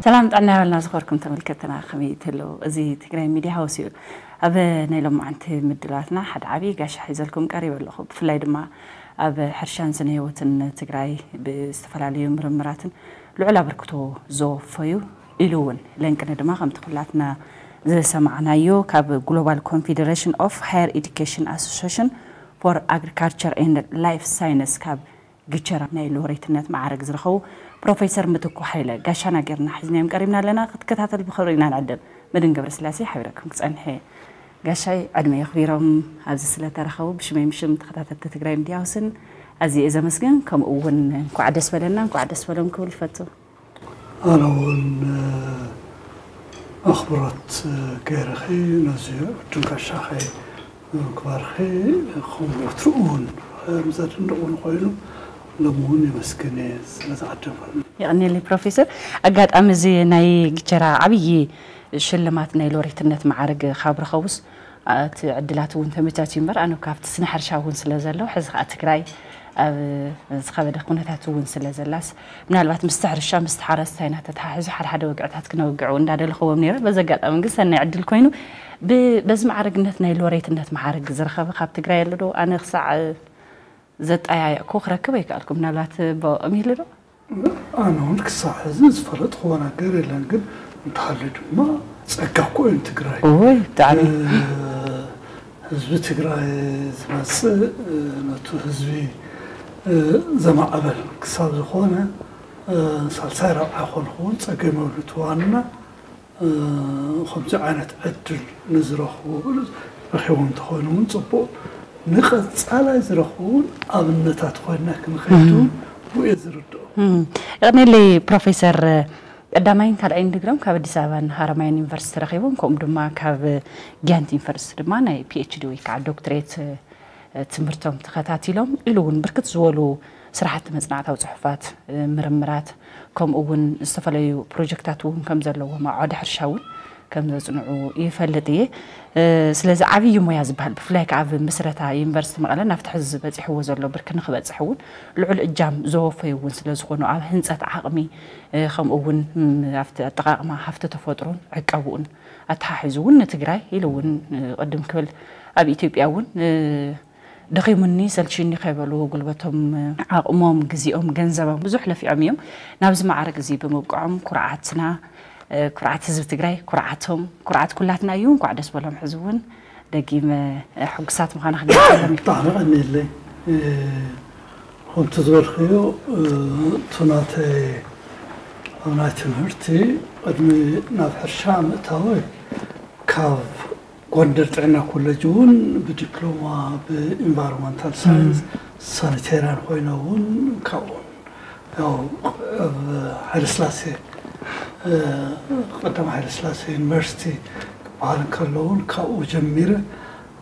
ሰላም ጥዕና ያበልና ዝኸርኩም ተመልከትና ከመይ ትህልው? እዚ ትግራይ ሚድያ ሃውስ እዩ። ኣብ ናይ ሎማዓንቲ ምድላትና ሓደ ዓብዪ ጋሻ ሒዘልኩም ቀሪበ ኣለኹ። ብፍላይ ድማ ኣብ ሕርሻን ስነ ህይወትን ትግራይ ብዝተፈላለዩ ምርምራትን ልዑል ኣበርክቶ ዘወፈዩ ኢሉ እውን ለንቅነ ድማ ከምቲ ኩላትና ዝሰማዕናዮ ካብ Global Confederation of Higher Education Association for Agriculture and Life Science ካብ ግቸራ ናይ ሎሬትነት ማዕረግ ዝረኸቡ ፕሮፌሰር ምትኩ ሓይለ ጋሻና ጌርና ሒዝናዮም ቀሪብና ኣለና። ክትከታተል ብኽብሪ ኢና ንዕድም። መድን ገብረስላሴ ሓቢረኩም ክጸንሕ እየ። ጋሻይ ዕድመ የኽቢሮም ኣብዚ ስለተረኸቡ ብሽመይ ምሽም ተኸታተልቲ ትግራይ ሚድያ ሃውስን ኣዝየ እየ ዘመስግን። ከምኡ እውን እንኳዕ ደስ በለና እንኳዕ ደስ በሎም ክብል ይፈቱ። ኣነ እውን ኣኽብሮት ገይረኺ ነዚ ዕድል ጋሻኺ ምግባርኺ ከም ወትሩ እውን ከም ዘድንቕ እውን ኮይኑ ሎሚ እውን የመስግን እየ ስለ ዝዓደመኒ። የቐንየለይ ፕሮፌሰር። ኣጋጣሚ እዚ ናይ ግቸራ ዓብዪ ሽልማት ናይ ሎሬትነት ማዕረግ ካብ ረኸቡስ እቲ ዕድላት እውን ተመቻችዩ እምበር ኣነ ካብቲ ስነ ሕርሻ እውን ስለ ዘለኹ ሕዚ ከዓ ትግራይ ኣብ ዝኸበደ ኩነታት እውን ስለ ዘላስ ምናልባት ምስቲ ሕርሻ ምስቲ ሓረስታይ እናተተሓሒዙ ሓደ ሓደ ወግዕታት ክነውግዑ እንዳደለኽዎም ነይረ። በዚ ኣጋጣሚ ግን ሰናይ ዕድል ኮይኑ ብ- በዚ ማዕረግነት ናይ ሎሬትነት ማዕረግ ዝረኸበ ካብ ትግራይ ኣሎ ዶ? ኣነ ክሳዕ ዘጠያየቕኩ ክረክብ ኣይከኣልኩ። ምናልባት ብኦም ይህሉ ዶ? ኣነ እውን ክሳብ ሕዚ ዝፈለጥክዎ ነገር የለን፣ ግን እንተሃልዩ ድማ ጸጋ እኮ እዩ ንትግራይ። እወ፣ ብጣዕሚ። እ፣ ህዝቢ ትግራይ ዝመጽእ፣ እ፣ ነቱ ህዝቢ፣ እ፣ ዘማዕበል ክሳብ ዝኾነ፣ እ፣ ሳልሳይ ራብዓይ ኮንኩ እውን ጸገም የብሉን። እቲ ዋና፣ እ፣ ከምዚ ዓይነት ዕድል ንዝረኽቡ ረኺቦም እንተኾይኑ እውን ጽቡቕ፣ ንቐጻላይ ዝረኽቡ እውን ኣብነታት ኮይና ክንኸይድ እውን ብኡ እየ ዝርድኦ። እም፣ የቐንየለይ ፕሮፌሰር። ቀዳማይን ካልኣይን ድግሮም ካብ ኣዲስ ኣበባን ሃረማያን ዩኒቨርሲቲ ረኺቦም፣ ከምኡ ድማ ካብ ጊያንት ዩኒቨርሲቲ ድማ ናይ ፒ ኤች ዲ ወይ ከዓ ዶክትሬት ትምህርቶም ተኸታቲሎም ኢሉ እውን ብርክት ዝበሉ ስራሕቲ መፅናዕታዊ ፅሑፋት፣ ምርምራት፣ ከምኡ እውን ዝተፈላለዩ ፕሮጀክታት እውን ከም ዘለዎም ኣብ ዓውዲ ሕርሻ እውን ከም ዘፅንዑ ይፈልጥ እየ። ስለዚ ዓብዪ ሞያ ዝበሃል ብፍላይ ከዓ ኣብ ምስረታ ዩኒቨርሲቲ መቐለ ናብቲ ሕዚ በፂሕዎ ዘሎ ብርኪ ንክበፅሕ እውን ልዑል እጃም ዘወፈዩ እውን ስለ ዝኾኑ ኣብ ህንፀት ዓቕሚ ከምኡ እውን ኣብቲ ኣጠቓቕማ ሃፍቲ ተፈጥሮን ዕቀብኡን ኣተሓሒዙ እውን ንትግራይ ኢሉ እውን ቅድም ክብል ኣብ ኢትዮጵያ እውን ደኺሙኒ ሰልችዩኒ ከይበሉ ጉልበቶም ዓቕሞም ግዜኦም ገንዘቦም ብዙሕ ለፊዖም እዮም ናብዚ ማዕረግ እዚ ብምብቅዖም ኩርዓትና ኩርዓት ህዝቢ ትግራይ ኩርዓቶም ኩርዓት ኩላትና እዩ እንኳዕ ደስ በሎም ሕዚ እውን ደጊመ ሕጉሳት ምዃና ክገልፀሎም እዩ ብጣዕሚ ቀኒለይ ከምቲ ዝበልክዮ እቱ ናተይ ኣብ ናይ ትምህርቲ ቅድሚ ናብ ሕርሻ ምእታወይ ካብ ጎንደር ጥዕና ኮለጅ እውን ብዲፕሎማ ብኢንቫይሮንመንታል ሳይንስ ሳኒቴሪያን ኮይነ እውን ካብኡ ያው ኣብ ሃይለስላሴ ቀዳማዊ ሃይለስላሴ ዩኒቨርሲቲ ክበሃል እንከሎ እውን ካብኡ ጀሚረ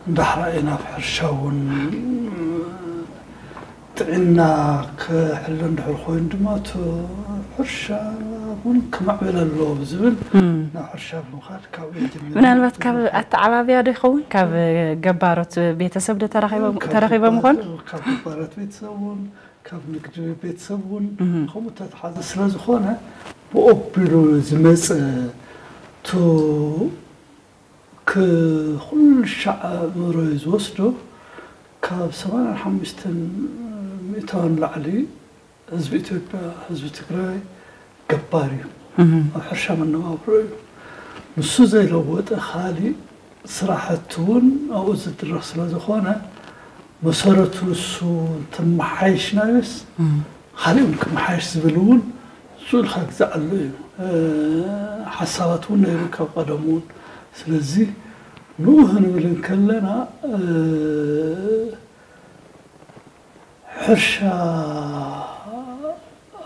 እንዳሕራየ ናብ ሕርሻ እውን ጥዕና ክሕሎ እንድሕር ኮይኑ ድማ እቲ ሕርሻ እውን ክማዕብል ኣለዎ ብዝብል ናብ ሕርሻ ብምኻድ ካብኡ ጀሚረ ምናልባት ካብ ኣተዓባብያ ዶ ይኸውን ካብ ገባሮት ቤተሰብ ዶ ተረኺቦም ይኾኑ ካብ ገባሮት ቤተሰብ እውን ካብ ንግዲ ቤተሰብ እውን ከምኡ ተተሓዘ ስለ ዝኾነ ብኦቢሉ ዝመፀ ቱ ክኹሉ ሻዕ ኣእምሮይ ዝወስዶ ካብ ሰማንያን ሓሙሽተን ሚእታውን ላዕሊ ህዝቢ ኢትዮጵያ ህዝቢ ትግራይ ገባር እዩ ኣብ ሕርሻ መነባብሮ እዩ ንሱ ዘይለወጠ ካሊእ ስራሕቲ እውን ኣብኡ ዝድረኽ ስለ ዝኾነ መሰረቱ ንሱ እንትመሓየሽናዮስ ካሊእ እውን ክመሓየሽ ዝብል እውን ስኡ ኢልካ ግዛዕ ኣሎ እዩ ሓሳባት እውን ነይሩ ካብ ቀደም እውን ስለዚ ንኡ ክንብል እንከለና ሕርሻ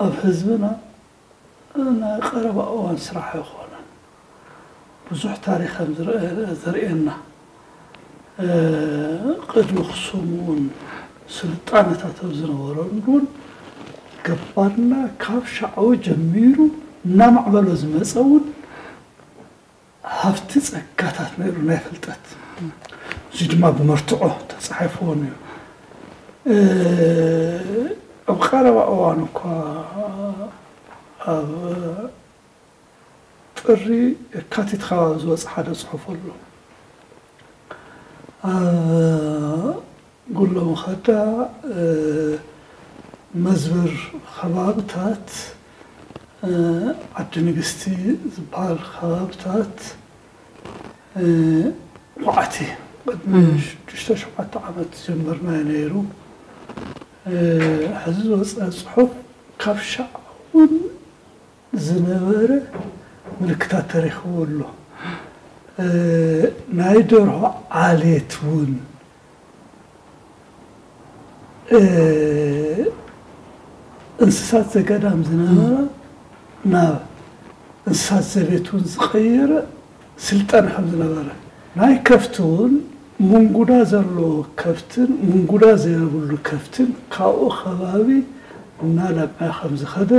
ኣብ ህዝብና ናይ ቀረባ እዋን ስራሕ ኣይኮነን። ብዙሕ ታሪኽ ከም ዘርእየና ቅድሚ ክሱም እውን ስልጣነታት ኣብ ዝነበረሉ እውን ገባርና ካብ ሻዕዊ ጀሚሩ እናማዕበሎ ዝመፀ እውን ሃፍቲ ጸጋታት ነይሩ ናይ ፍልጠት እዚ ድማ ብመርትዖ ተጻሒፍዎን እዩ ኣብ ቀረባ እዋን እኳ ኣብ ጥሪ የካቲት ከባቢ ዝወፀ ሓደ ፅሑፍ ኣሎ። ኣብ ጉሎ መኸዳ፣ እ፣ መዝብር ከባብታት፣ እ፣ ዓዲ ንግስቲ ዝበሃል ከባብታት፣ እ፣ ኳዕቲ ቅድሚ እም። ሽዱሽተ ሸውዓተ ዓመት ዝጀመርናዮ ነይሩ። እ፣ ሕዚ ዝወፀ ፅሑፍ ካብ ሻዕ እውን ዝነበረ ምልክታት ተረኺቡ ኣሎ። እ፣ ናይ ደርሆ ዓሌት እውን፣ እ፣ እንስሳት ዘገዳም ዝነበረ ናብ እንስሳት ዘቤት እውን ዝቐየረ ስልጣነ ከም ዝነበረ፣ ናይ ከፍቲ እውን ምንጉዳ ዘለዎ ከፍትን ምንጉዳ ዘይብሉ ከፍትን ካብኡ ከባቢ እናለምዐ ከም ዝኸደ፣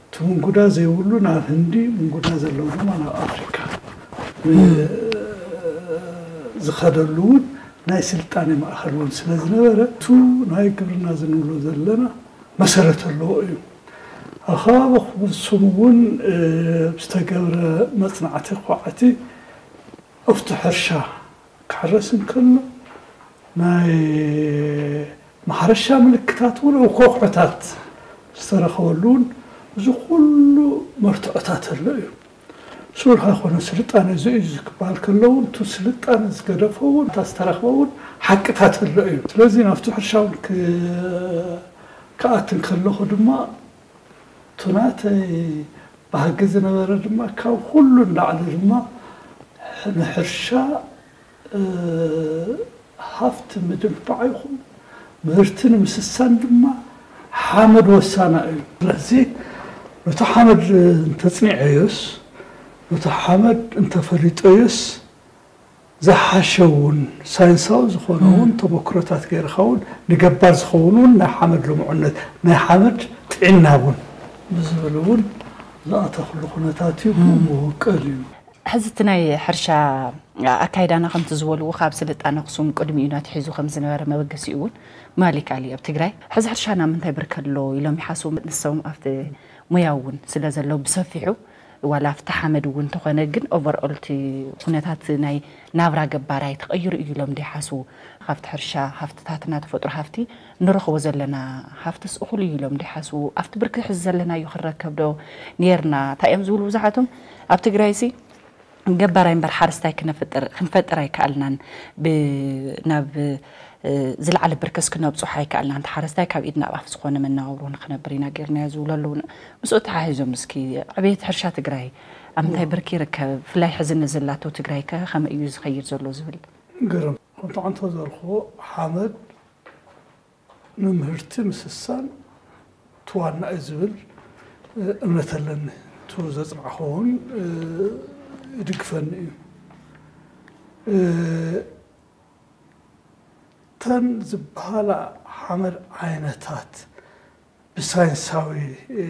እቲ ምንጉዳ ዘይብሉ ናብ ህንዲ፣ ምንጉዳ ዘለዎ ድማ ናብ ኣፍሪካ ም። ዝኸደሉ እውን ናይ ስልጣነ ማእኸል እውን ስለ ዝነበረ፣ እቱ ናይ ግብርና ዝንብሎ ዘለና መሰረት ኣለዎ እዩ። ኣብ ከባቢ ኣኽሱም እውን፣ እ፣ ዝተገብረ መፅናዕቲ ኳዕቲ ኣብቲ ሕርሻ ክሕረስ እንከሎ ናይ ማሕረሻ ምልክታት እውን ኣብ ከውሕታት ዝተረኸበሉ እውን እዚ ኩሉ መርትዖታት ኣሎ እዩ። ስሩሕ ኣይኮነ ስልጣነ እዚ እዩ ክበሃል ከሎ እውን፣ እቲ ስልጣነ ዝገደፎ እውን፣ እታ ዝተረኽበ እውን ሓቅታት ኣሎ እዩ። ስለዚ ናብቲ ሕርሻ እውን ክ-፣ ክኣት እንከለኹ ድማ፣ እቲ ናተይ ባህጊ ዝነበረ ድማ፣ ካብ ኩሉ ንላዕሊ ድማ ንሕርሻ፣ እ፣ ሃፍቲ ምድንፋዕ ይኹን ምህርቲ ንምስሳን ድማ ሓመድ ወሳና እዩ። ስለዚ ነቲ ሓመድ እንተጽኒዐዮስ፣ ነቲ ሓመድ እንተፈሊጠዮስ፣ ዝሓሸ እውን ሳይንሳዊ ዝኾነ እውን እም። ተመክሮታት ገይርካ እውን ንገባር ዝኸውን እውን ናይ ሓመድ ልሙዕነት፣ ናይ ሓመድ ጥዕና እውን ብዝብል እውን ዝኣተኽሉ ኩነታት እዩ። እም። ክውቀል እዩ። ሕዚ እቲ ናይ ሕርሻ ኣካይዳና ከምቲ ዝበልዎ ካብ ስልጣነ ኣኽሱም ቅድሚኡ ናትሒዙ ከም ዝነበረ መበገሲኡ እውን ማሊክ ኣሊ ኣብ ትግራይ። ሕዚ ሕርሻና ምንታይ ብርክ ኣሎ ኢሎም ይሓስቡ። ንሶም ኣብቲ ሞያ እውን ስለ ዘለዉ ብሰፊሑ ዋላ ኣብቲ ሓመድ እውን እንተኾነ ግን ኦቨርኦል እቲ ኩነታት ናይ ናብራ ገባራይ ተቐይሩ እዩ ኢሎም ዶ ይሓስቡ? ካብቲ ሕርሻ ሃፍትታትና ተፈጥሮ ሃፍቲ ንረኽቦ ዘለና ሃፍትስ እኹል እዩ ኢሎም ዶ ይሓስቡ? ኣብቲ ብርኪ ሕዚ ዘለናዮ ክንረከብ ዶ ነይርና? እንታይ እዮም ዝብሉ ብዙሓቶም ኣብ ትግራይሲ ገባራይ እምበር ሓረስታይ ክነፍጥር፣ ክንፈጥር ኣይከኣልናን። ብ-፣ ናብ፣ እ፣ ዝለዓለ ብርክስ ክነብፅሖ ኣይከኣልናን። እቲ ሓረስታይ ካብ ኢድ ናብ ኣፍ ዝኾነ መነባብሮ ንክነብር ኢና ጌርናዮ ዝብሉ ኣለዉ። ምስኡ ተሓሒዞም እስኪ ዕቤት ሕርሻ ትግራይ ኣብ ምንታይ ብርኪ ይርከብ? ብፍላይ ሕዚ ነዘላቶ ትግራይ ከ ከመይ እዩ ዝኸይድ ዘሎ ዝብል? ግርም። ከምቲ ዓንቶ ዘልክዎ ሓመድ ንምህርቲ ምስሳን እቲ ዋና እዩ ዝብል፣ እ፣ እምነት ኣለኒ። እቱ ዘጽናዕኹ እውን፣ እ፣ ይድግፈኒ እዩ። እ፣ እተን ዝበሃላ ሓመድ ዓይነታት ብሳይንሳዊ፣ እ፣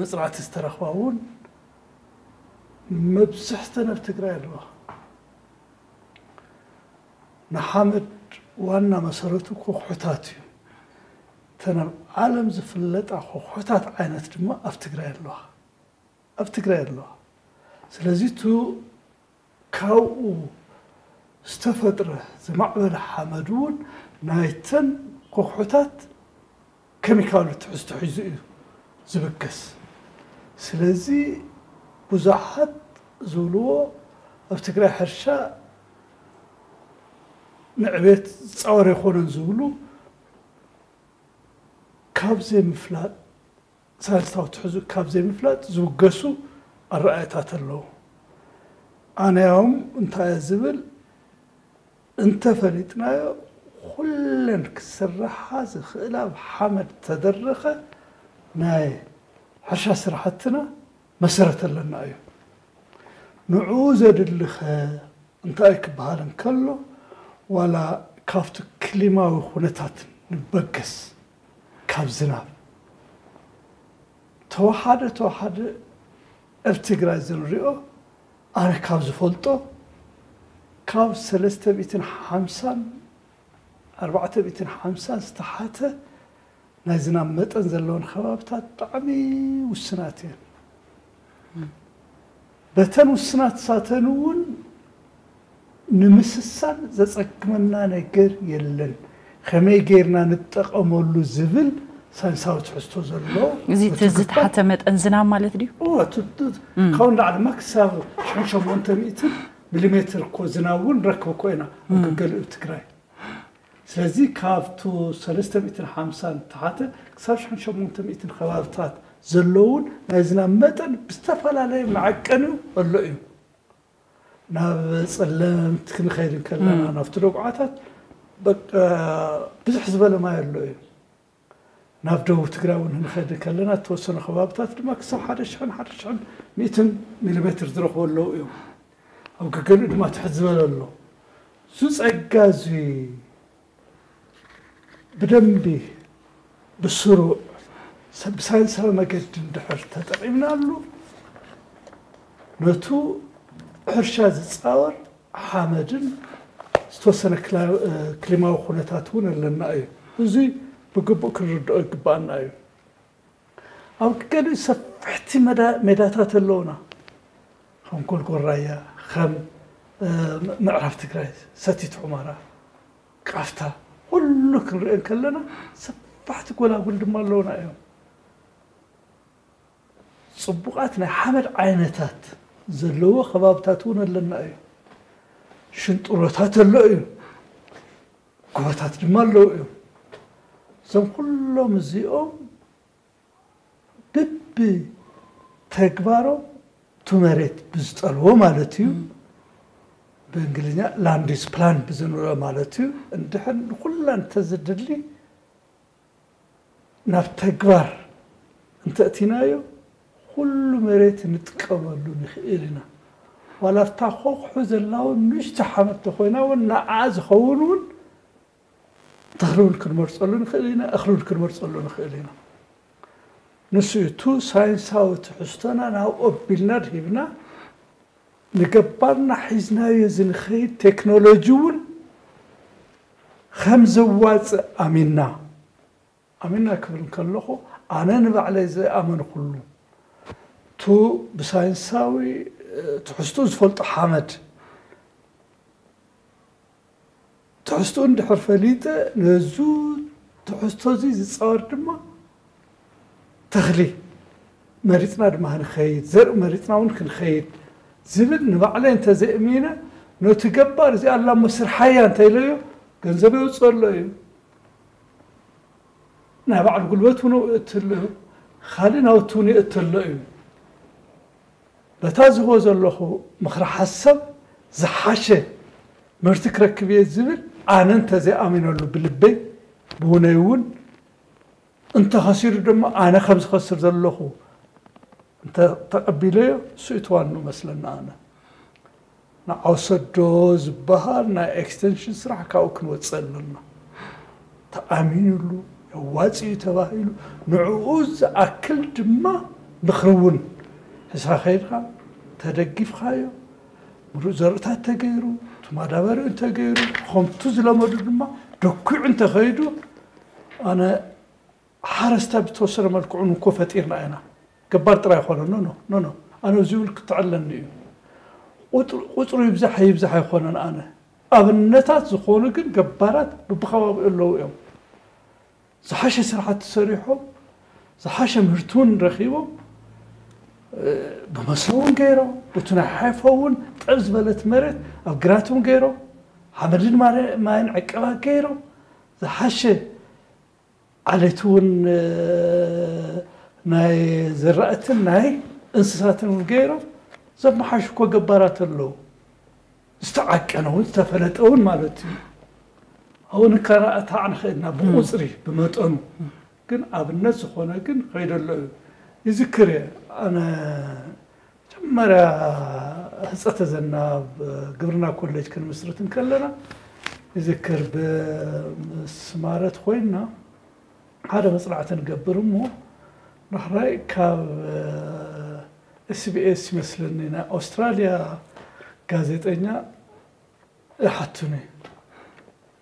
መጽናዕቲ ዝተረኽባ እውን መብዝሕተን ኣብ ትግራይ ኣለዋ። ንሓመድ ዋና መሰረቱ ኮኽሑታት እዩ። እተን ኣብ ዓለም ዝፍለጣ ኮኽሑታት ዓይነት ድማ ኣብ ትግራይ ኣለዋ። ኣብ ትግራይ ኣለዋ። ስለዚ እቱ ካብኡ ዝተፈጥረ ዝማዕበለ ሓመድ እውን ናይተን ኮኽሑታት ኬሚካሉ ትሕዝቶ ሒዙ እዩ ዝብገስ። ስለዚ ብዙሓት ዝብልዎ ኣብ ትግራይ ሕርሻ ንዕቤት ዝፃወር ኣይኮነን ዝብሉ ካብ ዘይምፍላጥ፣ ሳይንሳዊ ትሕዝኡ ካብ ዘይምፍላጥ ዝውገሱ ኣረኣእያታት ኣለዉ። ኣነ ያውም እንታይ እየ ዝብል፣ እንተፈሊጥናዮ ኩለን ክስርሓ ዝኽእላ ብሓመድ ተደረኸ ናይ ሕርሻ ስራሕትና መሰረት ኣለና እዩ። ንዕኡ ዘድልኸ እንታይ ክበሃል እንከሎ፣ ዋላ ካብቲ ክሊማዊ ኩነታት ንበገስ፣ ካብ ዝናብ ተወሓደ ተወሓደ ኣብ ትግራይ ዝንሪኦ፣ ኣነ ካብ ዝፈልጦ፣ ካብ ሰለስተ ሚእትን ሓምሳን ኣርባዕተ ሚእትን ሓምሳን ዝተሓተ ናይ ዝናብ መጠን ዘለወን ከባብታት ብጣዕሚ ውስናት እየን። በተን ውስናት ሳተን እውን ንምስሳን ዘጸግመና ነገር የለን። ከመይ ጌርና ንጠቐመሉ ዝብል ሳይንሳዊ ትሕዝቶ ዘሎ። እዚ እቲ ዝተሓተ መጠን ዝናብ ማለት ድዩ? ካብኡ ንላዕሊ ድማ ክሳብ ሽሕን ሸሞንተ ሚእትን ሚሊሜትር እኮ ዝናብ እውን ንረክብ እኮ ኢና ኣብ ገገሊኡ ትግራይ። ስለዚ ካብቱ ሰለስተ ሚእትን ሓምሳን ተሓተ ክሳብ ሽሕን ሸሞንተ ሚእትን ከባብታት ዘለውን ናይ ዝናብ መጠን ብዝተፈላለየ መዐቀኒኡ ኣሎ እዩ። ናብ ጸለምት ክንኸይድ እንከለና ናብቲ ደጉዓታት በቃ ብዙሕ ዝበለ ማይ ኣሎ እዩ። ናብ ደቡብ ትግራይ እውን ክንኸይድ እንከለና እተወሰኑ ከባብታት ድማ ክሳብ ሓደ ሽሕን ሓደ ሽሕን ሚእትን ሚሊሜትር ዝረኽቡ ኣለዉ እዮም። ኣብ ገገሊኡ ድማ ትሕት ዝበለ ኣሎ። እዚ ጸጋ እዚ ብደንቢ ብስሩዕ ሰብ ብሳይንሳዊ መገዲ እንድሕር ተጠቒምናሉ ነቱ ሕርሻ ዝፃወር ሓመድን ዝተወሰነ ክሊማዊ ኩነታት እውን ኣለና እዩ። እዙይ ብግቡእ ክንርድኦ ይግባኣና እዩ። ኣብ ገሊኡ ሰፍሕቲ ሜዳታት ኣለውና፣ ከም ጎልጎል ራያ፣ ከም ምዕራብ ትግራይ፣ ሰቲት ሑመራ፣ ቃፍታ፣ ኩሉ ክንሪኦ እንከለና ሰፋሕቲ ጎላጉል ድማ ኣለውና እዮም። ፅቡቓት ናይ ሓመድ ዓይነታት ዘለዎ ከባብታት እውን ኣለና እዩ። ሽንጥሮታት ኣሎ እዩ፣ ጎቦታት ድማ ኣለዉ እዮም። እዞም ኩሎም እዚኦም ብቢ ተግባሮም ቱ መሬት ብዝጠልቦ ማለት እዩ። ብእንግሊዝኛ land use plan ብዝንብሎ ማለት እዩ። እንድሕር ንኩላ እንተዝድሊ ናብ ተግባር እንተእቲናዮ ኩሉ መሬት ንጥቀመሉ ንኽእል ኢና። ዋላ ኣብታ ኮኽሑ ዘላ እውን ንእሽቶ ሓመድ ተኮይና እውን ንዓ ዝኸውን እውን ተኽሊ እውን ክንመርፀሉ ንኽእል ኢና፣ እኽሊ እውን ክንመርፀሉ ንኽእል ኢና። ንሱ እዩ እቱ ሳይንሳዊ ትሕዝቶና ናብ ኦቢልና ድሂብና ንገባርና ሒዝናዮ ዝንኸይድ ቴክኖሎጂ እውን ከም ዘዋፅእ ኣሚንና ኣሚንና ክብል ከለኹ ኣነ ንባዕለይ ዝኣመንኩሉ ቱ ብሳይንሳዊ ትሕዝቱ ዝፈልጦ ሓመድ ትሕዝቱ እንድሕር ፈሊጠ ነዙ ትሕዝቶ እዚ ዝፃወር ድማ ተኽሊ መሪፅና ድማ ክንኸይድ ዘርኢ መሪፅና እውን ክንኸይድ ዝብል ንባዕለይ እንተዘእሚነ ነቲ ገባር እዚ ኣላ እሞ ስርሓያ እንተኢለዮ ገንዘብ የውፅእ ኣሎ እዩ። ናይ ባዕሉ ጉልበት እውን የእትሎ እዩ። ካልእ ናውቲ እውን የእትሎ እዩ። በታ ዝህቦ ዘለኹ ምኽሪ ሓሳብ ዝሓሸ ምህርቲ ክረክብ እየ ዝብል ኣነ እንተዘይኣሚነሉ ብልበይ ብውነይ እውን እንተኸሲሩ ድማ ኣነ ከም ዝኸስር ዘለኹ እንተተቐቢለዮ እሱ እዩ ተዋኑ መስለና ኣነ ንዓውሰዶ ዝበሃል ናይ ኤክስቴንሽን ስራሕ ካብኡ ክንወፅእ ኣለና ተኣሚኑሉ የዋፅእ እዩ ተባሂሉ ንዕኡ ዝኣክል ድማ ምኽሪ እውን ሕስኻ ከይድካ ተደጊፍካዮ ምሩፅ ዘርእታት ተገይሩ እቲ ማዳበሪኡ እንተገይሩ ከምቱ ዝለመዱ ድማ ደኩዑ እንተኸይዱ ኣነ ሓረስታ ብተወሰነ መልክዑ ንኮ ፈጢርና ኢና ገባር ጥራይ ይኮነ ኖ ኖ ኖ ኣነ እዚ ይብል ክትዕለኒ እዩ ቁፅሩ ይብዛሕ ይብዛሕ ኣይኮነን ኣነ ኣብነታት ዝኾኑ ግን ገባራት ብብከባቢኡ ኣለዉ እዮም ዝሓሸ ስራሕቲ ሰሪሖም ዝሓሸ ምህርቲ እውን ረኪቦም ብመሰ እውን ገይሮም ብቲ ናይ ሓይፎ እውን ጠብ ዝበለት መሬት ኣብ ግራት እውን ገይሮም ሓመድን ማይን ዕቀባ ገይሮም ዝሓሸ ዓሌት እውን ናይ ዝራእትን ናይ እንስሳትን እውን ገይሮም ዘመሓሹ እኮ ገባራት ኣለዉ ዝተዓቀነ እውን ዝተፈለጠ እውን ማለት እዩ ኣብኡ ንከራእታዕ ንኽእልና ብቁፅሪ ብመጠኑ ግን ኣብነት ዝኾነ ግን ከይደሎ እዩ ይዝክር እየ ኣነ መጀመርያ ህፀተ ዘናብ ግብርና ኮሌጅ ክንምስርት እንከለና ይዝክር ብምስማረት ኮይና ሓደ መፅናዕቲ ንገብር እሞ ዳሕራይ ካብ ኤስቢኤስ ይመስለኒ ናይ ኣውስትራሊያ ጋዜጠኛ ይሓቱኒ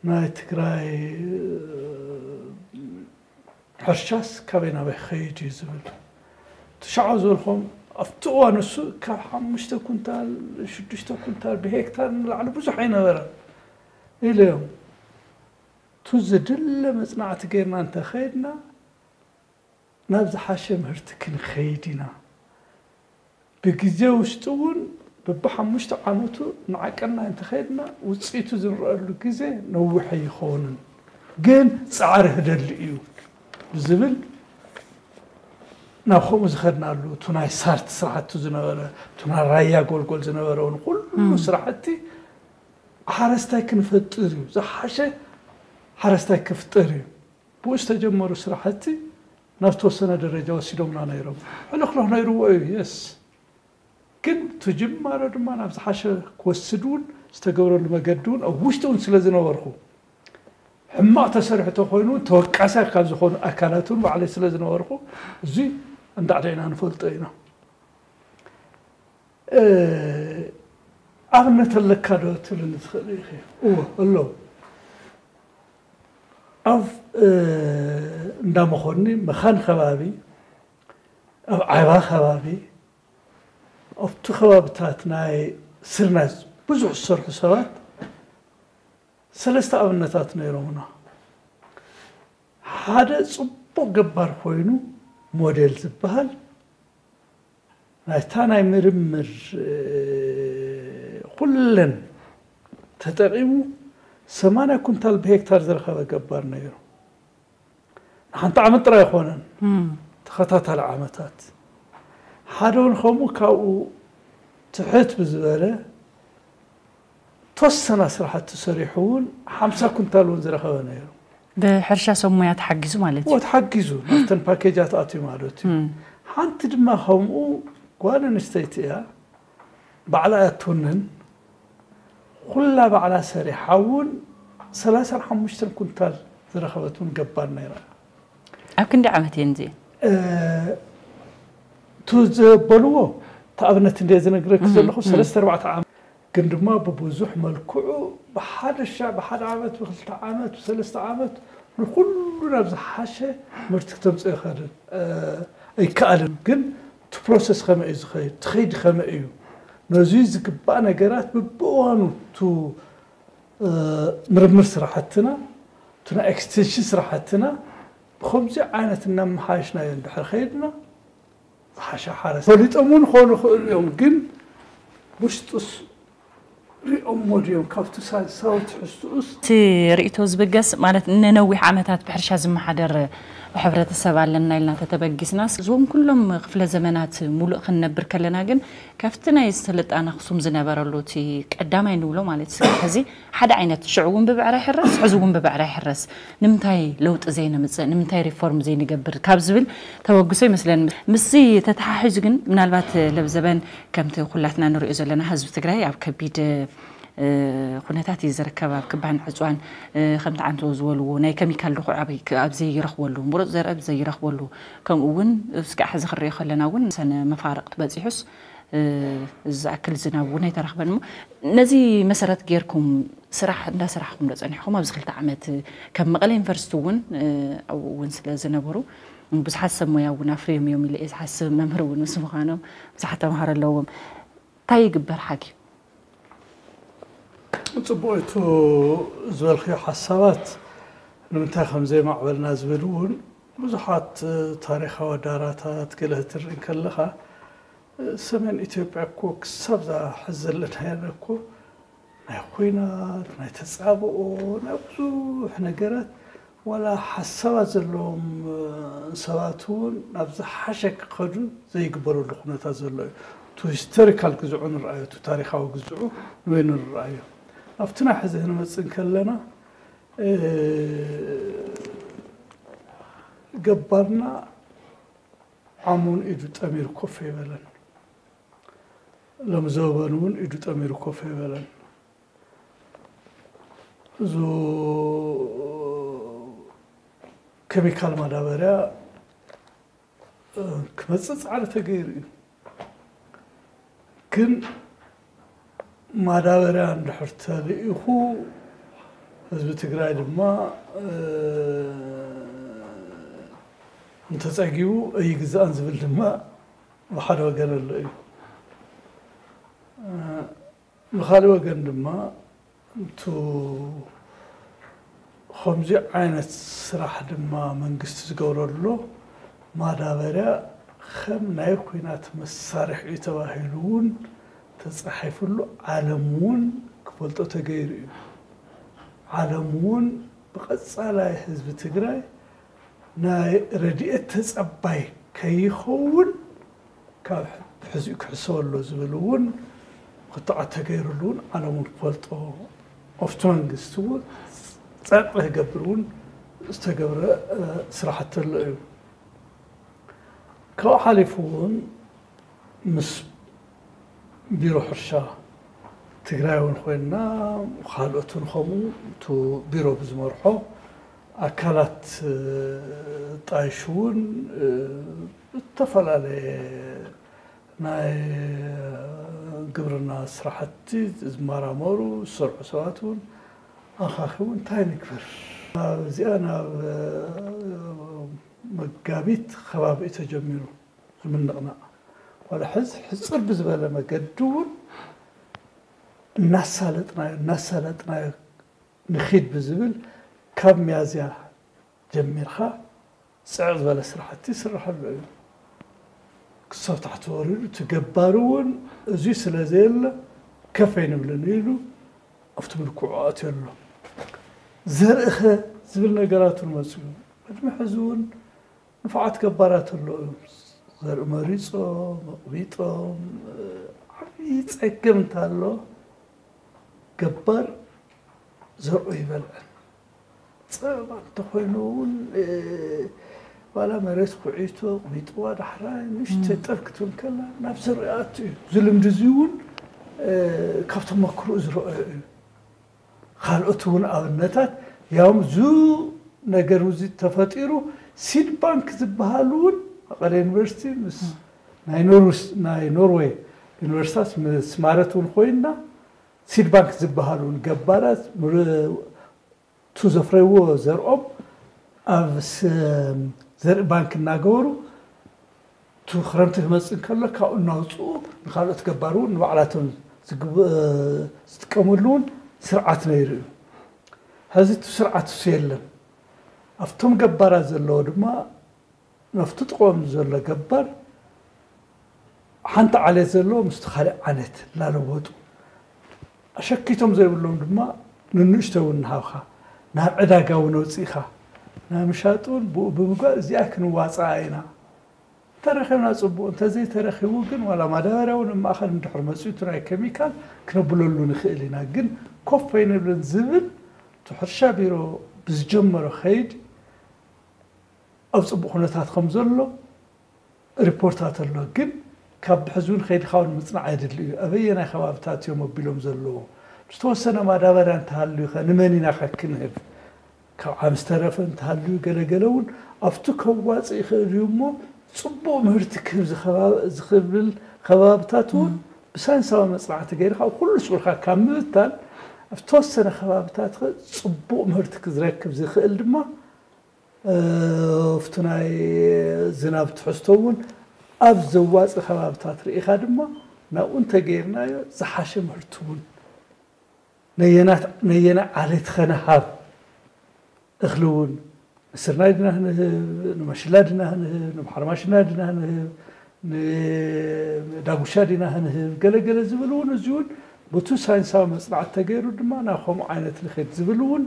ናይ ትግራይ ሕርሻስ ካበይ ናበይ ክኸይድ እዩ ዝብል ትሽዓው ዝበልኹም ኣብቲ እዋን እሱ ካብ ሓሙሽተ ኩንታል ሽዱሽተ ኩንታል ብሄክታር ንላዕሊ ብዙሕ ኣይነበረን ኢለዮም። ቱ ዝድለ መፅናዕቲ ጌርና እንተኸይድና ናብ ዝሓሸ ምህርቲ ክንኸይድ ኢና። ብግዜ ውሽጢ እውን በብሓሙሽተ ዓመቱ ንዓቀና እንተኸይድና ውፅኢቱ ዝንረአሉ ግዜ ነዊሕ ኣይኸውንን፣ ግን ፃዕሪ ህደሊ እዩ ብዝብል ናብ ከምኡ ዝኸድናሉ፣ እቱ ናይ ሳርት ስራሕቲ ዝነበረ፣ እቱ ናይ ራያ ጎልጎል ዝነበረ እውን ኩሉ ስራሕቲ ሓረስታይ ክንፈጥር እዩ፣ ዝሓሸ ሓረስታይ ክፍጠር እዩ። ብኡ ዝተጀመሩ ስራሕቲ ናብ ተወሰነ ደረጃ ወሲዶምና ነይሮም። ሕልኽልኽ ነይርዎ እዩ፣ የስ። ግን እቲ ጅማሮ ድማ ናብ ዝሓሸ ክወስድ እውን ዝተገብረሉ መገዲ እውን ኣብ ውሽጢ እውን ስለ ዝነበርኩ፣ ሕማቕ ተሰሪሑ ተኮይኑ እውን ተወቃሳይ ካብ ዝኾኑ ኣካላት እውን ባዕለይ ስለ ዝነበርኩ፣ እዚ እንዳ ዕዳይና ንፈልጦ ኢና። እ፣ ኣብነት ኣለካ ዶ ትብልኒ ትኽእል ኢኺ? እወ፣ ኣሎ። ኣብ፣ እ፣ እንዳ መኾኒ፣ መኻን ከባቢ፣ ኣብ ዓባ ከባቢ፣ ኣብቲ ከባብታት ናይ ስርናይ ብዙሕ ዝሰርሑ ሰባት ሰለስተ ኣብነታት ነይሮምና። ሓደ ጽቡቕ ገባር ኮይኑ ሞዴል ዝበሃል ናይታ ናይ ምርምር፣ እ፣ ኩለን ተጠቒሙ ሰማንያ ኩንታል ብሄክታር ዝረኸበ ገባር ነይሩ። ንሓንቲ ዓመት ጥራይ ኣይኮነን፣ እም። ተኸታታሊ ዓመታት። ሓደ እውን ከምኡ ካብኡ ትሕት ብዝበለ ተወሰና ስራሕቲ ሰሪሑ እውን ሓምሳ ኩንታል እውን ዝረኸበ ነይሩ። ብሕርሻ ሰብ ሞያ ተሓጊዙ ማለት እዩ። እዎ፣ ተሓጊዙ ናብተን ፓኬጃት ኣትዩ ማለት እዩ። እም። ሓንቲ ድማ ከምኡ ጓል ኣንስተይቲ እያ፣ ባዕላ እያ ትውንን። ኩላ ባዕላ ሰሪሓ እውን ሰላሳን ሓሙሽተን ኩንታል ዝረኸበት እውን ገባር ነይራ። ኣብ ክንደይ ዓመት እየን እዚአን? እ፣ እቱ ዘበልዎ፣ እቲ ኣብነት እንደ ዝነግረኪ እም፣ ዘለኹ፣ እም። ሰለስተ ኣርባዕተ ዓመት፣ ግን ድማ ብብዙሕ መልክዑ ብሓደ ሻዕ፣ ብሓደ ዓመት፣ ብክልተ ዓመት፣ ብሰለስተ ዓመት ንኩሉ ናብ ዝሓሸ ምህርቲ ክተምፅእ ይኸድን፣ እ፣ ኣይከኣልን። ግን እቲ ፕሮሰስ ከመይ እዩ ዝኸይድ? እቲ ኸይዲ ከመይ እዩ? ነዙይ ዝግባእ ነገራት ብብእዋኑ እቱ፣ እ፣ ምርምር ስራሕትና፣ እቱ ናይ ኤክስቴንሽን ስራሕትና ብኸምዚ ዓይነት እናመሓየሽናዮ እንድሕር ኸይድና፣ ዝሓሸ ሓረስ ፈሊጦም እውን ክኾኑ ይኽእሉ እዮም፣ ግን ውሽጡስ ሪኦሞ ድዮም? ካብቲ ሳይንሳዊ ትሕዝትኡስ? እቲ ርእይቶ ዝብገስ ማለት፣ ንነዊሕ ዓመታት ብሕርሻ ዝመሓደር ሕብረተሰብ ኣለና ኢልና ተተበጊስናስ፣ እዞም ኩሎም ክፍለ ዘመናት ሙሉእ ክንነብር ከለና ግን፣ ካብቲ ናይ ስልጣነ ኣኽሱም ዝነበረሉ እቲ ቀዳማይ ንብሎ ማለት፣ ስጋብ ሕዚ ሓደ ዓይነት፣ ሽዑ እውን ብብዕራይ ይሕረስ፣ ሕዚ እውን ብብዕራይ ይሕረስ። ንምንታይ ለውጢ ዘይነምጽእ? ንምንታይ ሪፎርም ዘይንገብር? ካብ ዝብል ተበግሶ ይመስለኒ። ምስዚ ተተሓሒዙ ግን፣ ምናልባት ለብዘበን ከምቲ ኩላትና ንሪኦ ዘለና፣ ህዝቢ ትግራይ ኣብ ከቢድ፣ እ፣ ኩነታት እዩ ዝርከብ። ኣብ ክባን ዕፅዋን፣ እ፣ ከምቲ ዓንቶ ዝበልዎ፣ ናይ ኬሚካል ድኹዒ ኣብ፣ ኣብ ዘይረኽበሉ፣ ምሩፅ ዘርኢ ኣብ ዘይረኽበሉ፣ ከምኡ እውን እስካዕ ሕዚ ክንሪኦ ከለና እውን ሰነ መፋርቕቲ በፂሑስ፣ እ፣ ዝኣክል ዝናብ እውን ኣይተረኽበን። እሞ ነዚ መሰረት ጌርኩም ስራሕ እንዳሰራሕኩም ዶ ጸኒሕኩም? ኣብዚ ክልተ ዓመት ከም መቐለ ዩኒቨርሲቲ እውን፣ እ፣ ኣብኡ እውን ስለ ዝነበሩ ብዙሓት ሰብ ሞያ እውን ኣፍርዮም እዮም ኢለ እየ ዝሓስብ። መምህር እውን ምስ ምዃኖም ብዙሓት ተምሃሮ ኣለዎም። እንታይ ይግበር ሓኪም? ጽቡቕ፣ እቱ ዝበልክዮ ሓሳባት ንምንታይ ከም ዘይማዕበልና ዝብል እውን ብዙሓት ታሪኻዊ ዳራታት ገለ ክትርኢ ከለኻ፣ ሰሜን ኢትዮጵያ እኮ ክሳብ እዛ ሕዚ ዘለናያ እኮ ናይ ኹናት፣ ናይ ተጻብኦ፣ ናይ ብዙሕ ነገራት፣ ዋላ ሓሳባት ዘለዎም ሰባት እውን ናብ ዝሓሸ ክኸዱ ዘይግበረሉ ኩነታት ዘሎ እዩ። እቱ ሂስቶሪካል ግዝዑ ንርኣዮ፣ እቱ ታሪኻዊ ግዝዑ ንበይኑ ንርኣዮ። ኣብቲ ናይ ሕዚ ክንመጽእ እንከለና፣ እ፣ ገባርና ዓሙን ኢዱ ጠሚሩ ኮፍ ኣይበለን። ሎም ዘበን እውን ኢዱ ጠሚሩ ኮፍ ኣይበለን። እዙ ኬሚካል ማዳበርያ፣ እ፣ ክመጽእ ጻዕሪ ተገይሩ እዩ። ግን ማዳበርያ እንድሕር ተልኢኹ፣ ህዝቢ ትግራይ ድማ፣ እ፣ እንተጸጊቡ ኣይግዛእን ዝብል ድማ ብሓደ ወገን ኣሎ እዩ። ብኻልእ ወገን ድማ እቱ ከምዚ ዓይነት ስራሕ ድማ መንግስቲ ዝገብረሎ ማዳበርያ ከም ናይ ኲናት መሳርሒ እዩ ተባሂሉ እውን ተፃሒፉሉ ዓለም እውን ክፈልጦ ተገይሩ እዩ። ዓለም እውን ብቐፃላይ ህዝቢ ትግራይ ናይ ረድኤት ተፀባይ ከይኸውን ካብ ሕዚ ክሕሰበሎ ዝብል እውን ክትዓት ተገይሩሉ እውን ዓለም እውን ክፈልጦ ኣብቲ መንግስቲ እውን ፀቕጢ ክገብር እውን ዝተገብረ ስራሕቲ ኣሎ እዩ። ካብኡ ሓሊፉ እውን ምስ ቢሮ ሕርሻ ትግራይ እውን ኮይንና ካልኦትን ከምኡ እቲ ቢሮ ብዝመርሖ ኣካላት ጣይሹ እውን ዝተፈላለየ ናይ ግብርና ስራሕቲ ዝመራመሩ ዝሰርሑ ሰባት እውን ኣኻኺቡ እንታይ ንግበር እዚኣ ናብ መጋቢት ከባቢ ተጀሚሩ ዝምንቕናቕ ዋላ ሕዚ ሕፅር ብዝበለ መገዲ እውን እናሳለጥናዮ እናሳለጥናዮ ንኺድ ብዝብል ካብ ሚያዝያ ጀሚርካ ፅዕ ዝበለ ስራሕቲ ይስርሐሉ እዩ። ክሳብ ታሕቲ ወሪዱ እቲ ገባሪ እውን እዙይ ስለ ዘየለ ከፍ ኣይንብልን ኢሉ ኣብቲ ምልክዑ ኣትዮ ኣሎ። ዘርእኸ ዝብል ነገራት እውን መፅኡ ቅድሚ ሕዚ እውን ንፉዓት ገባራት ኣለዉ እዮም። ዘርኢ መሪፆም ኣቕቢጦም ዓብዪ ፀገም እንተሎ ገባር ዘርኦ ይበልዐን። ፀባ እንተኮይኑ እውን ዋላ መሬት ኩዒቶ ኣቕቢጥዋ ዳሕራይ ንእሽተይ ጠፍ ክትብል ከላ ናብ ዘርኢ ኣቱ እዩ። እዚ ልምዲ እዚ እውን ካብ ተመክርኡ ዝረኣዮ እዩ። ካልኦት እውን ኣብነታት ያውም ዙ ነገር እዚ ተፈጢሩ ሲድ ባንክ ዝበሃል እውን መቐለ ዩኒቨርሲቲ ምስ ናይ ኖርስ ናይ ኖርዌይ ዩኒቨርሲታት ምስ ማረት እውን ኮይንና ሲድ ባንክ ዝበሃል እውን ገባራት ቱ ዘፍረይዎ ዘርኦም ኣብ ዘርኢ ባንክ እናገበሩ እቲ ክረምቲ ክመፅእ እንከሎ ካብኡ እናውፅኡ ንካልኦት ገባር እውን ንባዕላቶም ዝጥቀምሉ እውን ስርዓት ነይሩ እዩ። ሕዚ እቲ ስርዓት እሱ የለን። ኣብቶም ገባራት ዘለዎ ድማ ናብቲ ጥቕኦም ዘሎ ገባር ሓንቲ ዓሌት ዘለዎ ምስቲ ካልእ ዓሌት እናለወጡ ኣሸኪቶም ዘይብሎም ድማ ንንእሽቶ እውን ንሃብካ ናብ ዕዳጋ እውን ኣውፂእካ ናብ ምሻጥ እውን ብኡ ብምግባር እዚኣ ክንዋፃኣ ኢና። እንተረኺብና ፅቡቕ፣ እንተዘይተረኺቡ ግን ዋላ ማዳበርያ እውን ኣብ ማእኸል እንድሕር መፂኡ እቲ ናይ ኬሚካል ክነብለሉ ንኽእል ኢና። ግን ኮፍ ኣይንብልን ዝብል እቲ ሕርሻ ቢሮ ብዝጀመሮ ከይድ ኣብ ፅቡቕ ኩነታት ከም ዘሎ ሪፖርታት ኣሎ። ግን ካብ ብሕዚ እውን ከይድካ እውን ምፅናዕ የድሊ እዩ። ኣበየናይ ከባብታት እዮም ኣቢሎም ዘለዎ ዝተወሰነ ማዳበርያ እንተሃልዩ ከ ንመን ኢና ከ ክንህብ ካብ ዓም ዝተረፈ እንተሃልዩ ገለገለ እውን ኣብቲ ከዋፅእ ይኽእል እዩ እሞ ፅቡቕ ምህርቲ ክህብ ዝኽብል ከባብታት እውን ብሳይንሳዊ መፅናዕቲ ገይርካ ኣብ ኩሉ ስኡልካ ካብ ምብታን ኣብ ተወሰነ ከባብታት ከ ፅቡቕ ምህርቲ ክዝረክብ ዝኽእል ድማ ኣብቲ ናይ ዝናብ ትሕዝቶ እውን ኣብ ዘዋፅእ ከባብታት ርኢኻ ድማ ናብኡ እንተገይርናዮ ዝሓሸ ምህርቲ እውን ነየናይ ዓሌት ኸነሃብ እኽሊ እውን ንስርናይ ድና ክንህብ ንመሽላ ድና ክንህብ ንባሕርማሽና ድና ክንህብ ንዳጉሻ ዲና ክንህብ ገለገለ ዝብል እውን እዚ እውን ብቱ ሳይንሳዊ መፅናዕቲ ተገይሩ ድማ ናብ ከምኡ ዓይነት ንኸድ ዝብል እውን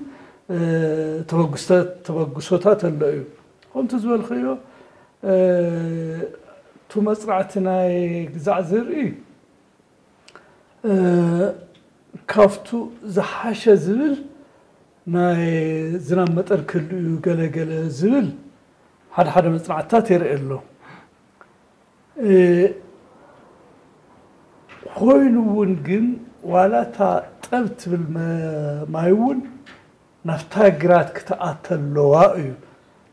ተበግሶታት ኣሎ እዩ። ከምቲ ዝበልክዮ እቱ መፅናዕቲ ናይ ግዛዕ ዝርኢ ካብቱ ዝሓሸ ዝብል ናይ ዝናብ መጠን ክህሉ እዩ ገለገለ ዝብል ሓደ ሓደ መፅናዕትታት የርኢ ኣሎ። ኮይኑ እውን ግን ዋላ እታ ጠብ ትብል ማይ እውን ናብታ ግራት ክትኣተ ኣለዋ እዩ።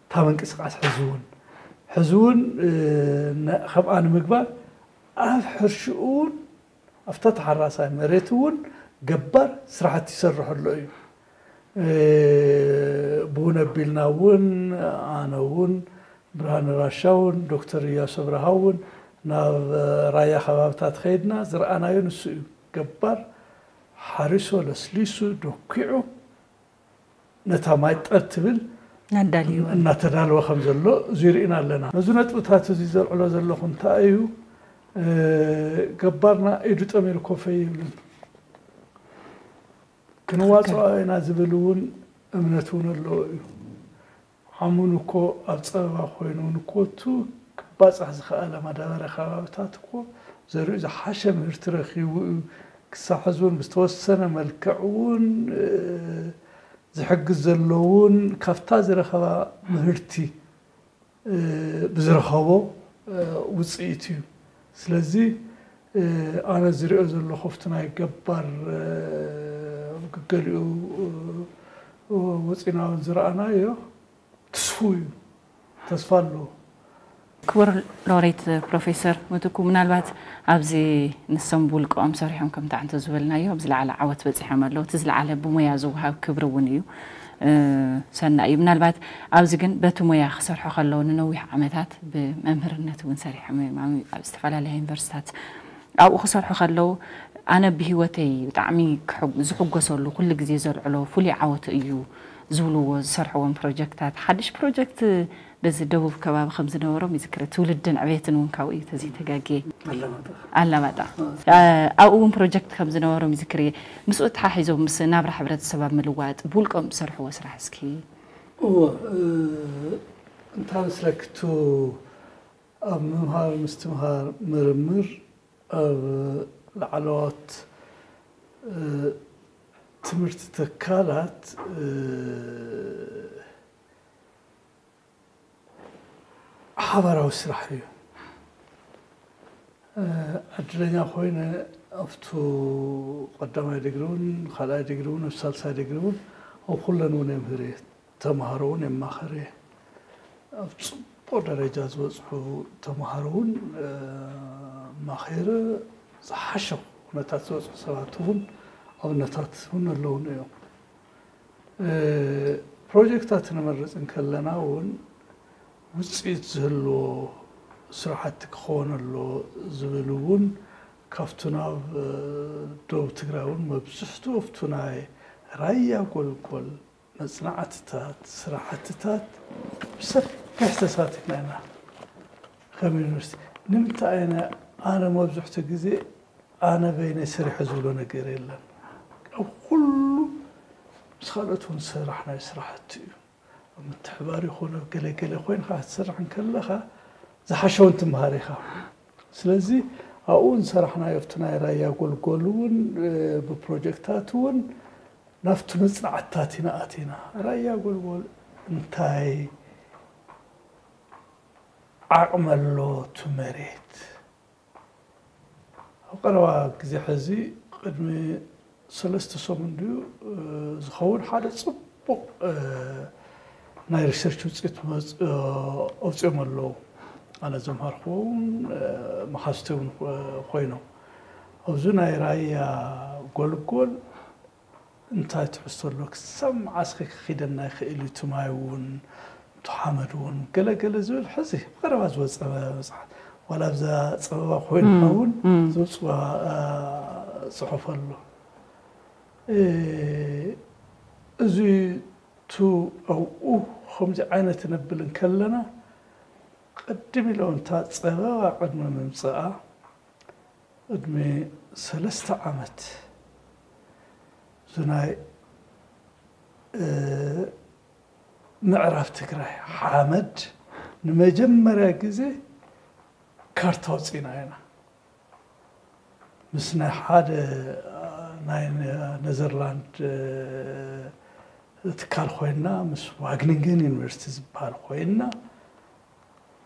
እታ ምንቅስቃስ ሕዚ እውን ሕዚ እውን ከምኣ ንምግባር ኣብ ሕርሽኡ እውን ኣብታ ተሓራሳይ መሬት እውን ገባር ስራሕቲ ይሰርሕ ኣሎ እዩ። ብውን ኣቢልና እውን ኣነ እውን ብርሃነ ራሻ እውን ዶክተር እያሱ ኣብርሃ እውን ናብ ራያ ከባብታት ከይድና ዝረኣናዮ ንሱ እዩ። ገባር ሓሪሶ ለስሊሱ ደኪዑ ነታ ማይ ጠብ ትብል ናዳልዩ እናተዳለወ ከም ዘሎ እዚ ርኢና ኣለና። ነዚ ነጥብታት እዚ ዘልዕሎ ዘለኹ እንታይ እዩ? ገባርና ኢዱ ጠሚሩ ኮፍ ኣይብልን። ክንዋፅኦ ኢና ዝብል እውን እምነት እውን ኣለዎ እዩ። ዓሙን እኮ ኣብ ፀበባ ኮይኑ እውን እኮ እቱ ክባፃሕ ዝኸኣለ ማዳበርያ ከባብታት እኮ ዘሪኡ ዝሓሸ ምህርቲ ረኺቡ እዩ። ክሳብ ሕዚ እውን ብዝተወሰነ መልክዕ እውን ዝሕግዝ ዘሎ እውን ካብታ ዝረኸባ ምህርቲ ብዝረኸቦ ውፅኢት እዩ። ስለዚ ኣነ ዝሪኦ ዘለኹ ኣብቲ ናይ ገባር ገሊኡ ወፂና እውን ዝረኣናዮ ትስፉው እዩ፣ ተስፋ ኣለዎ። ክቡር ሎሬት ፕሮፌሰር ምትኩ፣ ምናልባት ኣብዚ ንሶም ብውልቀኦም ሰሪሖም ከምቲ ዓንቶ ዝበልናዮ ኣብ ዝለዓለ ዓወት በፂሖም ኣለዉ። እቲ ዝለዓለ ብሞያ ዝወሃብ ክብሪ እውን እዩ፣ ሰናይ እዩ። ምናልባት ኣብዚ ግን በቲ ሞያ ክሰርሑ ከለዉ ንነዊሕ ዓመታት ብመምህርነት እውን ሰሪሖም እዮም ኣብ ዝተፈላለያ ዩኒቨርሲታት ኣብኡ ክሰርሑ ከለዉ ኣነ ብሂወተይ ብጣዕሚ ዝሕጎሰሉ ኩሉ ግዜ ዘልዕሎ ፍሉይ ዓወት እዩ ዝብልዎ ዝሰርሕዎም ፕሮጀክታት ሓድሽ ፕሮጀክት በዚ ደቡብ ከባቢ ከም ዝነበሮም ይዝክር። ትውልድን ዕቤትን እውን ካብኡ እዩ ተዘይተጋግየ። ኣላማጣ ኣብኡ እውን ፕሮጀክት ከም ዝነበሮም ይዝክር እየ። ምስኡ ተሓሒዞም ምስ ናብራ ሕብረተሰብ ኣብ ምልዋጥ ብውልቆም ዝሰርሕዎ ስራሕ እስኪ። እወ፣ እንታ መስለክቱ ኣብ ምምሃር ምስትምሃር ምርምር ኣብ ላዕለዎት ትምህርቲ ትካላት ሓባራዊ ስራሕ እዩ። ዕድለኛ ኮይነ ኣብቱ ቀዳማይ ዲግሪ እውን ካልኣይ ዲግሪ እውን ኣብ ሳልሳይ ዲግሪ እውን ኣብ ኩለን እውን የምህር እየ። ተምሃሮ እውን የማኸር እየ። ኣብ ፅቡቕ ደረጃ ዝበፅሑ ተምሃሮ እውን ማኸይረ ዝሓሸ ኩነታት ዝበፅሑ ሰባት እውን ኣብነታት እውን ኣለውን እዮም። ፕሮጀክታት ንመርፅ እንከለና እውን ውፅኢት ዝህልዎ ስራሕቲ ክኸውን ኣለዎ ዝብል እውን ካብቱ ናብ ደቡብ ትግራይ እውን መብዝሕቱ ኣብቱ ናይ ራያ ጎልጎል መፅናዕትታት ስራሕትታት ብሰፊሕ ተሳቲፍና ኢና። ከም ዩኒቨርሲቲ ንምንታይ ኣነ ኣነ መብዝሕቱ ግዜ ኣነ በይነ ስርሐ ዝብሎ ነገር የለን። ኣብ ኩሉ ምስ ካልኦት እውን ዝሰራሕናዮ ስራሕቲ እዩ። ኣብ ምትሕባር ይኹን ኣብ ገለገለ ኮይንካ ክትሰርሕ እንከለኻ ዝሓሸውን ትምሃር ኢኻ። ስለዚ ኣብኡ ዝሰራሕናዮ ኣብቲ ናይ ራያ ጎልጎል እውን ብፕሮጀክታት እውን ናብቲ መፅናዕትታት ኢና ኣቲና። ራያ ጎልጎል እንታይ ዓቕሚ ኣሎ እቲ መሬት? ኣብ ቀረባ ግዜ ሕዚ ቅድሚ ሰለስተ ሰሙን ድዩ ዝኸውን ሓደ ፅቡቕ ናይ ሪሰርች ውፅኢት ኣውፅኦም ኣለዉ። ኣነ ዘምሃርክዎም መሓዝቲ እውን ኮይኖም ኣብዚ ናይ ራያ ጎልጎል እንታይ ትሕዝቶ ኣሎ ክሳብ መዓስ ከ ክኺደና ይኽእል እዩ እቲ ማይ እውን እቲ ሓመድ እውን ገለ ገለ ዝብል ሕዚ ብቐረባ ዝወፀ መፅሓፍ ዋላ ኣብዛ ፀበባ ኮይንካ እውን ዝውፅዋ ፅሑፍ ኣሎ። እዚ ቱ ኣብኡ ከምዚ ዓይነት ነብል እንከለና ቅድም ኢሎም እታ ፀበባ ቅድሚ ምምፅኣ ቅድሚ ሰለስተ ዓመት እዚ ናይ ምዕራብ ትግራይ ሓመድ ንመጀመርያ ግዜ ካርታ ኣውፂእና ኢና። ምስ ናይ ሓደ ናይ ነዘርላንድ ትካል ኮይንና ምስ ዋግኒንገን ዩኒቨርሲቲ ዝበሃል ኮይንና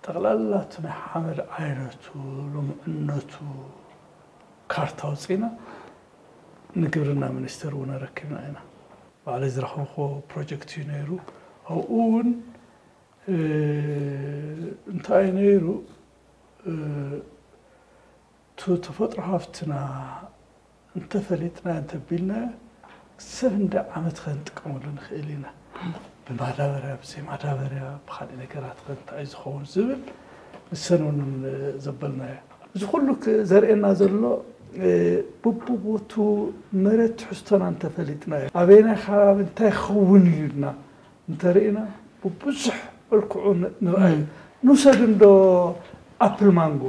ጠቕላላ እቲ ናይ ሓመድ ዓይነቱ ልሙዕነቱ ካርታ ኣውፂእና ንግብርና ሚኒስቴር እውን ኣረኪብና ኢና። ባዕለይ ዝረኸብኩዎ ፕሮጀክት እዩ ነይሩ። ኣብኡ እውን እንታይ ነይሩ እቲ ተፈጥሮ ሃፍትና እንተፈሊጥና እንተቢልና ሰብ እንደ ዓመት ከንጥቀመሉ ንኽእል ኢና። ብማዳበርያ ብዘይ ማዳበርያ ብካሊእ ነገራት ከንታይ ዝኸውን ዝብል ንሰን እውን ዘበልናዮ። እዚ ኩሉ ክ-፣ ዘርእየና ዘሎ፣ እ፣ ቡቡቦቱ መሬት ትሕዝቶና እንተፈሊጥናዮ፣ ኣበየናይ ከባቢ እንታይ ክኸውን እዩ ኢልና እንተርኢና፣ ብብዙሕ መልክዑ ን-፣ ንርኣዩ። እም። ንውሰድ እንዶ ኣፕል ማንጎ፣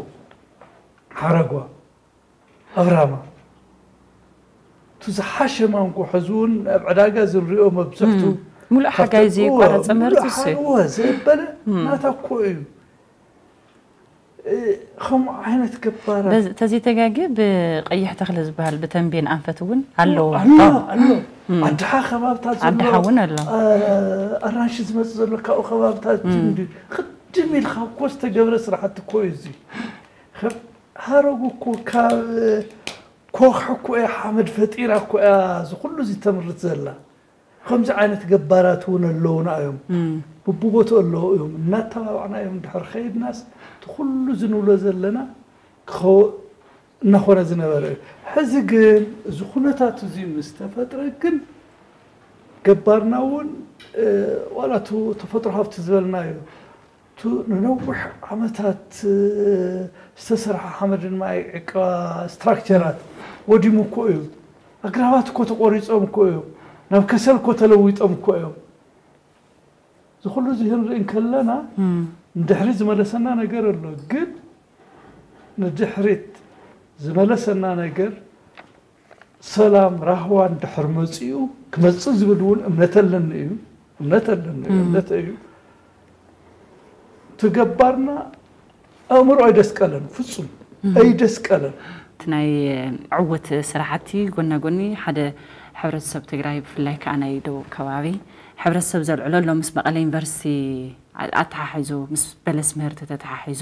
ሓረጓ፣ ኣብራማ። እቲ ዝሓሸ ማንጎ ሕዚ እውን ኣብ ዕዳጋ ዝንሪኦ መብዝሕቱ እም። ሙሉእ ካብቲ ሓጋይ እወ፣ ዘይቋረጸ ምህርቲ ሙሉእ እሱ እዩ። ሓ-፣ እወ፣ ዘበለ እም። ናታ እኮ እዩ። እ፣ ከምኡ ዓይነት ገባራት። በዚ-፣ ተዘይተጋግየ ብቐይሕ ተኽሊ ዝበሃል ብተንቤን ኣንፈት እውን ኣለዎ። ኣሎ፣ ኣሎ። እም። ኣድሓ ከባብታት ኣሎ። ኣድሓ እውን ኣሎ። እ፣ ኣራንሺ ዝመጽእ ዘሎ ካብኡ ከባብታት እም። እንዲ ቅድም ኢልካ እኮ ዝተገብረ ስራሕቲ እኮ እዩ እዚ። ከም ሃረጉ እኮ ካብ ኮኽ እኮ እያ ሓመድ ፈጢራ እኮ እያ እዚ ኩሉ እዚ ተምርት ዘላ። ከምዚ ዓይነት ገባራት እውን ኣለዉና እዮም። እም። ብብቦትኡ ኣለዉ እዮም። እናተባባዕና እዮም ድሕር ከይድናስ እቲ ኩሉ ዝንብሎ ዘለና ክኸው-፣ እናኾነ ዝነበረ እዩ። ሕዚ ግን እዚ ኩነታት እዚ ምስ ተፈጥረ ግን ገባርና እውን፣ እ፣ ዋላ እቱ ተፈጥሮ ሃብቲ ዝበልናዮ እቱ ንነዊሕ ዓመታት፣ እ፣ ዝተሰርሐ ሓመድን ማይ ዕቀባ ስትራክቸራት ወዲሙ እኮ እዩ። ኣግራባት እኮ ተቆሪጾም እኮ እዮም። ናብ ከሰል እኮ ተለዊጦም እኮ እዮም። እዚ ኩሉ እዚ ክንርኢ እንከለና እም። ንድሕሪ ዝመለሰና ነገር ኣሎ። ግን ንድሕሪት ዝመለሰና ነገር ሰላም ራህዋ እንድሕር መጺኡ ክመጽእ ዝብል እውን እምነት ኣለኒ እዩ። እምነት ኣለኒ እዩ። እም። እምነት እዩ። እቲ ገባርና ኣእምሮ ኣይደስቀለን፣ ፍጹም እም። ኣይደስቀለን። እቲ ናይ ዕውት ስራሕቲ ጎና ጎኒ ሓደ ሕብረተሰብ ትግራይ ብፍላይ ከዓ ናይ ደቡብ ከባቢ ሕብረተሰብ ዘልዕሎ ኣሎ ምስ መቐለ ዩኒቨርሲቲ ኣ-፣ ኣተሓሒዙ ምስ በለስ ምህርቲ ተተሓሒዙ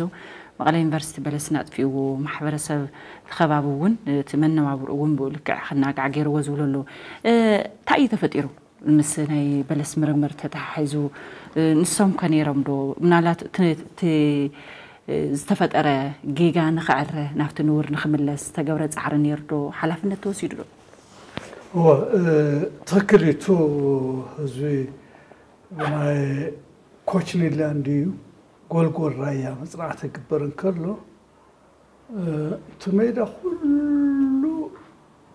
መቐለ ዩኒቨርሲቲ በለስ ናጥፊእዎ ማሕበረሰብ እቲ ከባቢ እውን እቲ መነባብርኡ እውን ብኡ ልክዕ ክናጋዕ ገይርዎ ዝብሉ ኣለዉ። እ፣ እንታይ እዩ ተፈጢሩ? ምስ ናይ በለስ ምርምር ተተሓሒዙ፣ እ፣ ንሶም ከ ነይሮም ዶ? ምናልባት እቲ፣ እቲ፣ እ፣ ዝተፈጠረ ጌጋ ንኽዕረ፣ ናብቲ ንቡር ንኽምለስ ዝተገብረ ጻዕሪ ነይሩ ዶ? ሓላፍነት ተወሲዱ ዶ? እወ፣ እ፣ ትኽክል እዩ። እቱ ህዝቢ ብናይ ኮችኒላ እንድዩ ጎልጎል ራያ መጽናዕቲ ክግበር እንከሎ፣ እ፣ እቲ ሜዳ ኩሉ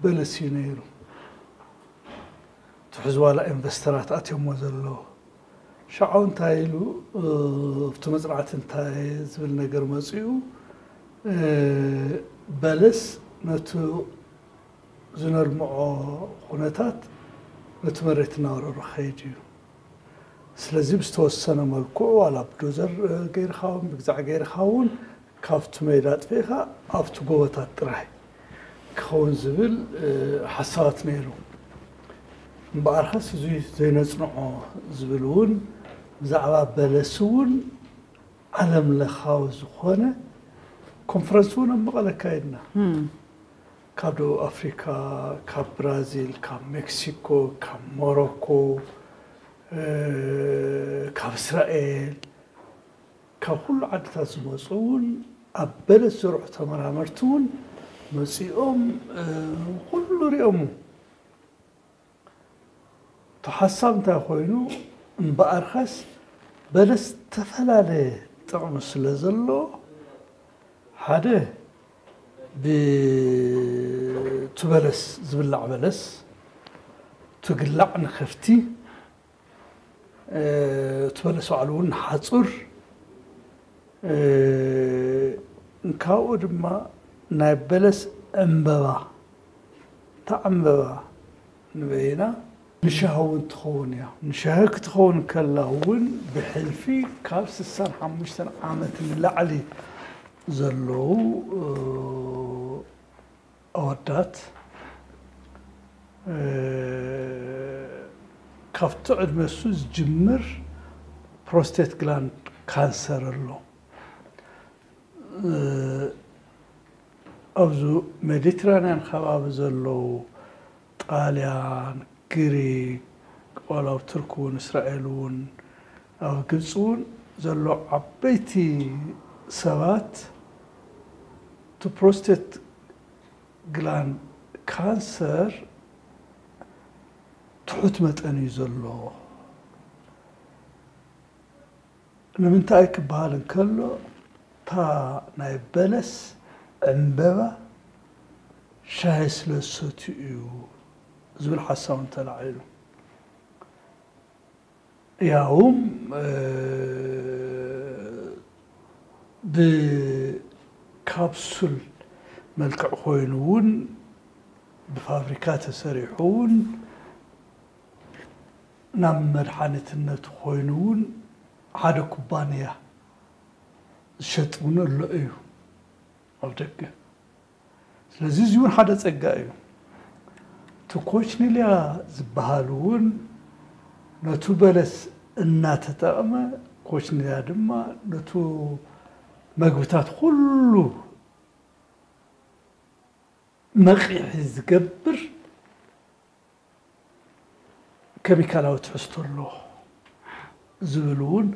በለስ እዩ ነይሩ። እቲ ሕዚ ዋላ ኢንቨስተራት ኣትዮሞ ዘለዉ። ሻዑ እንታይ ኢሉ፣ እ፣ ኣብቲ መጽናዕቲ እንታይ ዝብል ነገር መጺኡ፣ እ፣ በለስ ነቲ ዝነልምዖ ኩነታት ነቲ መሬት እናወረሮ ክኸይድ እዩ። ስለዚ ብዝተወሰነ መልክዑ ዋላ ብዶዘር፣ እ፣ ገይርካ እውን ብግዛዕ ገይርካ እውን ካብቲ ሜዳ ኣጥፊእካ ኣብቲ ጎቦታት ጥራይ ክኸውን ዝብል፣ እ፣ ሓሳባት ነይሩ። እምበኣርከስ እዚ ዘይነጽንዖ ዝብል እውን ብዛዕባ በለስ እውን ዓለም ለኻዊ ዝኾነ ኮንፈረንስ እውን ኣብ መቐለ ኣካይድና። እም። ካብ ደቡብ ኣፍሪካ፣ ካብ ብራዚል፣ ካብ ሜክሲኮ፣ ካብ ሞሮኮ፣ እ፣ ካብ እስራኤል፣ ካብ ኩሉ ዓድታት ዝመፁ እውን ኣብ በለስ ዝሰርሑ ተመራመርቲ እውን መፂኦም፣ እ፣ ኩሉ ሪኦሙ። እቲ ሓሳብ እንታይ ኮይኑ፣ እምበኣርከስ በለስ ዝተፈላለየ ጥቕሚ ስለ ዘለዎ፣ ሓደ ብ-፣ እቲ በለስ፣ ዝብላዕ በለስ፣ ትግላዕ ንከፍቲ፣ እ፣ እቲ በለስ ባዕሉ እውን ንሓፁር፣ እ፣ እንካብኡ ድማ ናይ በለስ ዕምበባ፣ እታ ዕምበባ ንበይና ንሻሂ እውን ትኸውን እያ። ንሻሂ ክትኸውን ከላ እውን ብሕልፊ ካብ ስሳን ሓሙሽተን ዓመት ንላዕሊ ዘለዉ፣ እ፣ ኣወዳት፣ እ፣ ካብቲ ዕድመ እሱ ዝጅምር ፕሮስቴት ግላንድ ካንሰር ኣሎ። እ፣ ኣብዚ ሜዲትራንያን ከባቢ ዘለዉ ጣልያን፣ ግሪክ፣ ዋላ ኣብ ቱርክ እውን፣ እስራኤል እውን፣ ኣብ ግብፂ እውን ዘሎ ዓበይቲ ሰባት እቲ ፕሮስቴት ግላንድ ካንሰር ትሑት መጠን እዩ ዘሎ። ንምንታይ ክበሃል እንከሎ፣ ናይ በለስ ዕምበባ ሻሂ ስለ ዝሰትዩ እዩ ዝብል ሓሳብ ተላዒሉ። ያውም ብካፕሱል መልክዕ ኮይኑ እውን ብፋብሪካ ተሰሪሑ እውን ናብ መድሓኒትነት ኮይኑ እውን ሓደ ኩባንያ ዝሸጥ እውን ኣሎ እዩ ኣብ ደገ። ስለዚ እዚ እውን ሓደ ጸጋ እዩ። እቲ ኮችኒልያ ዝበሃል እውን ነቱ በለስ እናተጠቕመ፣ ኮችኒልያ ድማ ነቱ መግብታት ኩሉ መቒሒ ዝገብር ኬሚካላዊ ትሕዝቶ ኣለዎ ዝብል እውን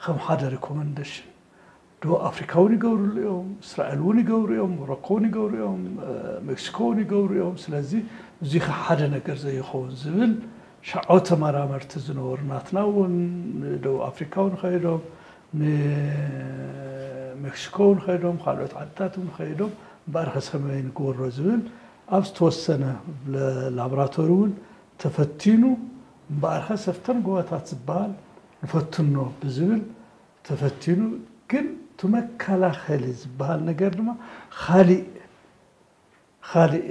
ከም ሓደ ሪኮመንደሽን ደቡብ ኣፍሪካ እውን ይገብርሉ እዮም፣ እስራኤል እውን ይገብሩ እዮም፣ ሞሮኮ እውን ይገብሩ እዮም፣ ሜክሲኮ እውን ይገብሩ እዮም። ስለዚ እዚ ሓደ ነገር ዘይኸውን ዝብል ሸዓው ተመራመርቲ ዝነበሩ ናትና እውን ንደቡብ ኣፍሪካ እውን ከይዶም ንሜክሲኮ እውን ከይዶም ካልኦት ዓድታት እውን ከይዶም እምበኣር ከሰመይ ንግበሮ ዝብል ኣብ ዝተወሰነ ላቦራቶሪ እውን ተፈቲኑ እምበኣር ከሰፍተን ጎባታት ዝበሃል ንፈትኖ ብዝብል ተፈቲኑ ግን እቲ መከላኸሊ ዝበሃል ነገር ድማ ካሊእ ካሊእ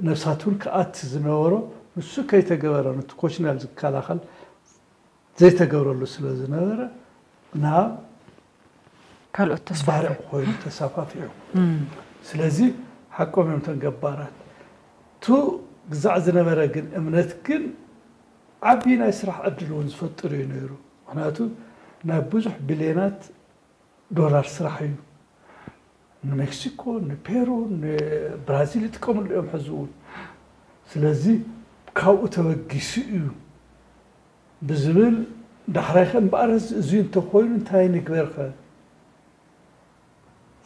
ነብሳት እውን ክኣቲ ዝነበሮ ንሱ ከይተገበረ ነቲ ኮሽናል ዝከላኸል ዘይተገብረሉ ስለ ዝነበረ ናብ ካልኦት ተስፋ ባርዕ ኮይኑ ተሳፋፊዑ። ስለዚ ሓቆም እዮም ተን ገባራት። ቱ ግዛዕ ዝነበረ ግን እምነት ግን ዓብዪ ናይ ስራሕ ዕድል እውን ዝፈጥር እዩ ነይሩ። ምክንያቱ ናይ ብዙሕ ቢልዮናት ዶላር ስራሕ እዩ። ንሜክሲኮ፣ ንፔሩ፣ ንብራዚል ይጥቀምሉ እዮም ሕዚ እውን። ስለዚ ካብኡ ተበጊሱ እዩ ብዝብል ዳሕራይ ከ እምበኣር እዚ እንተኮይኑ እንታይ ንግበር ከ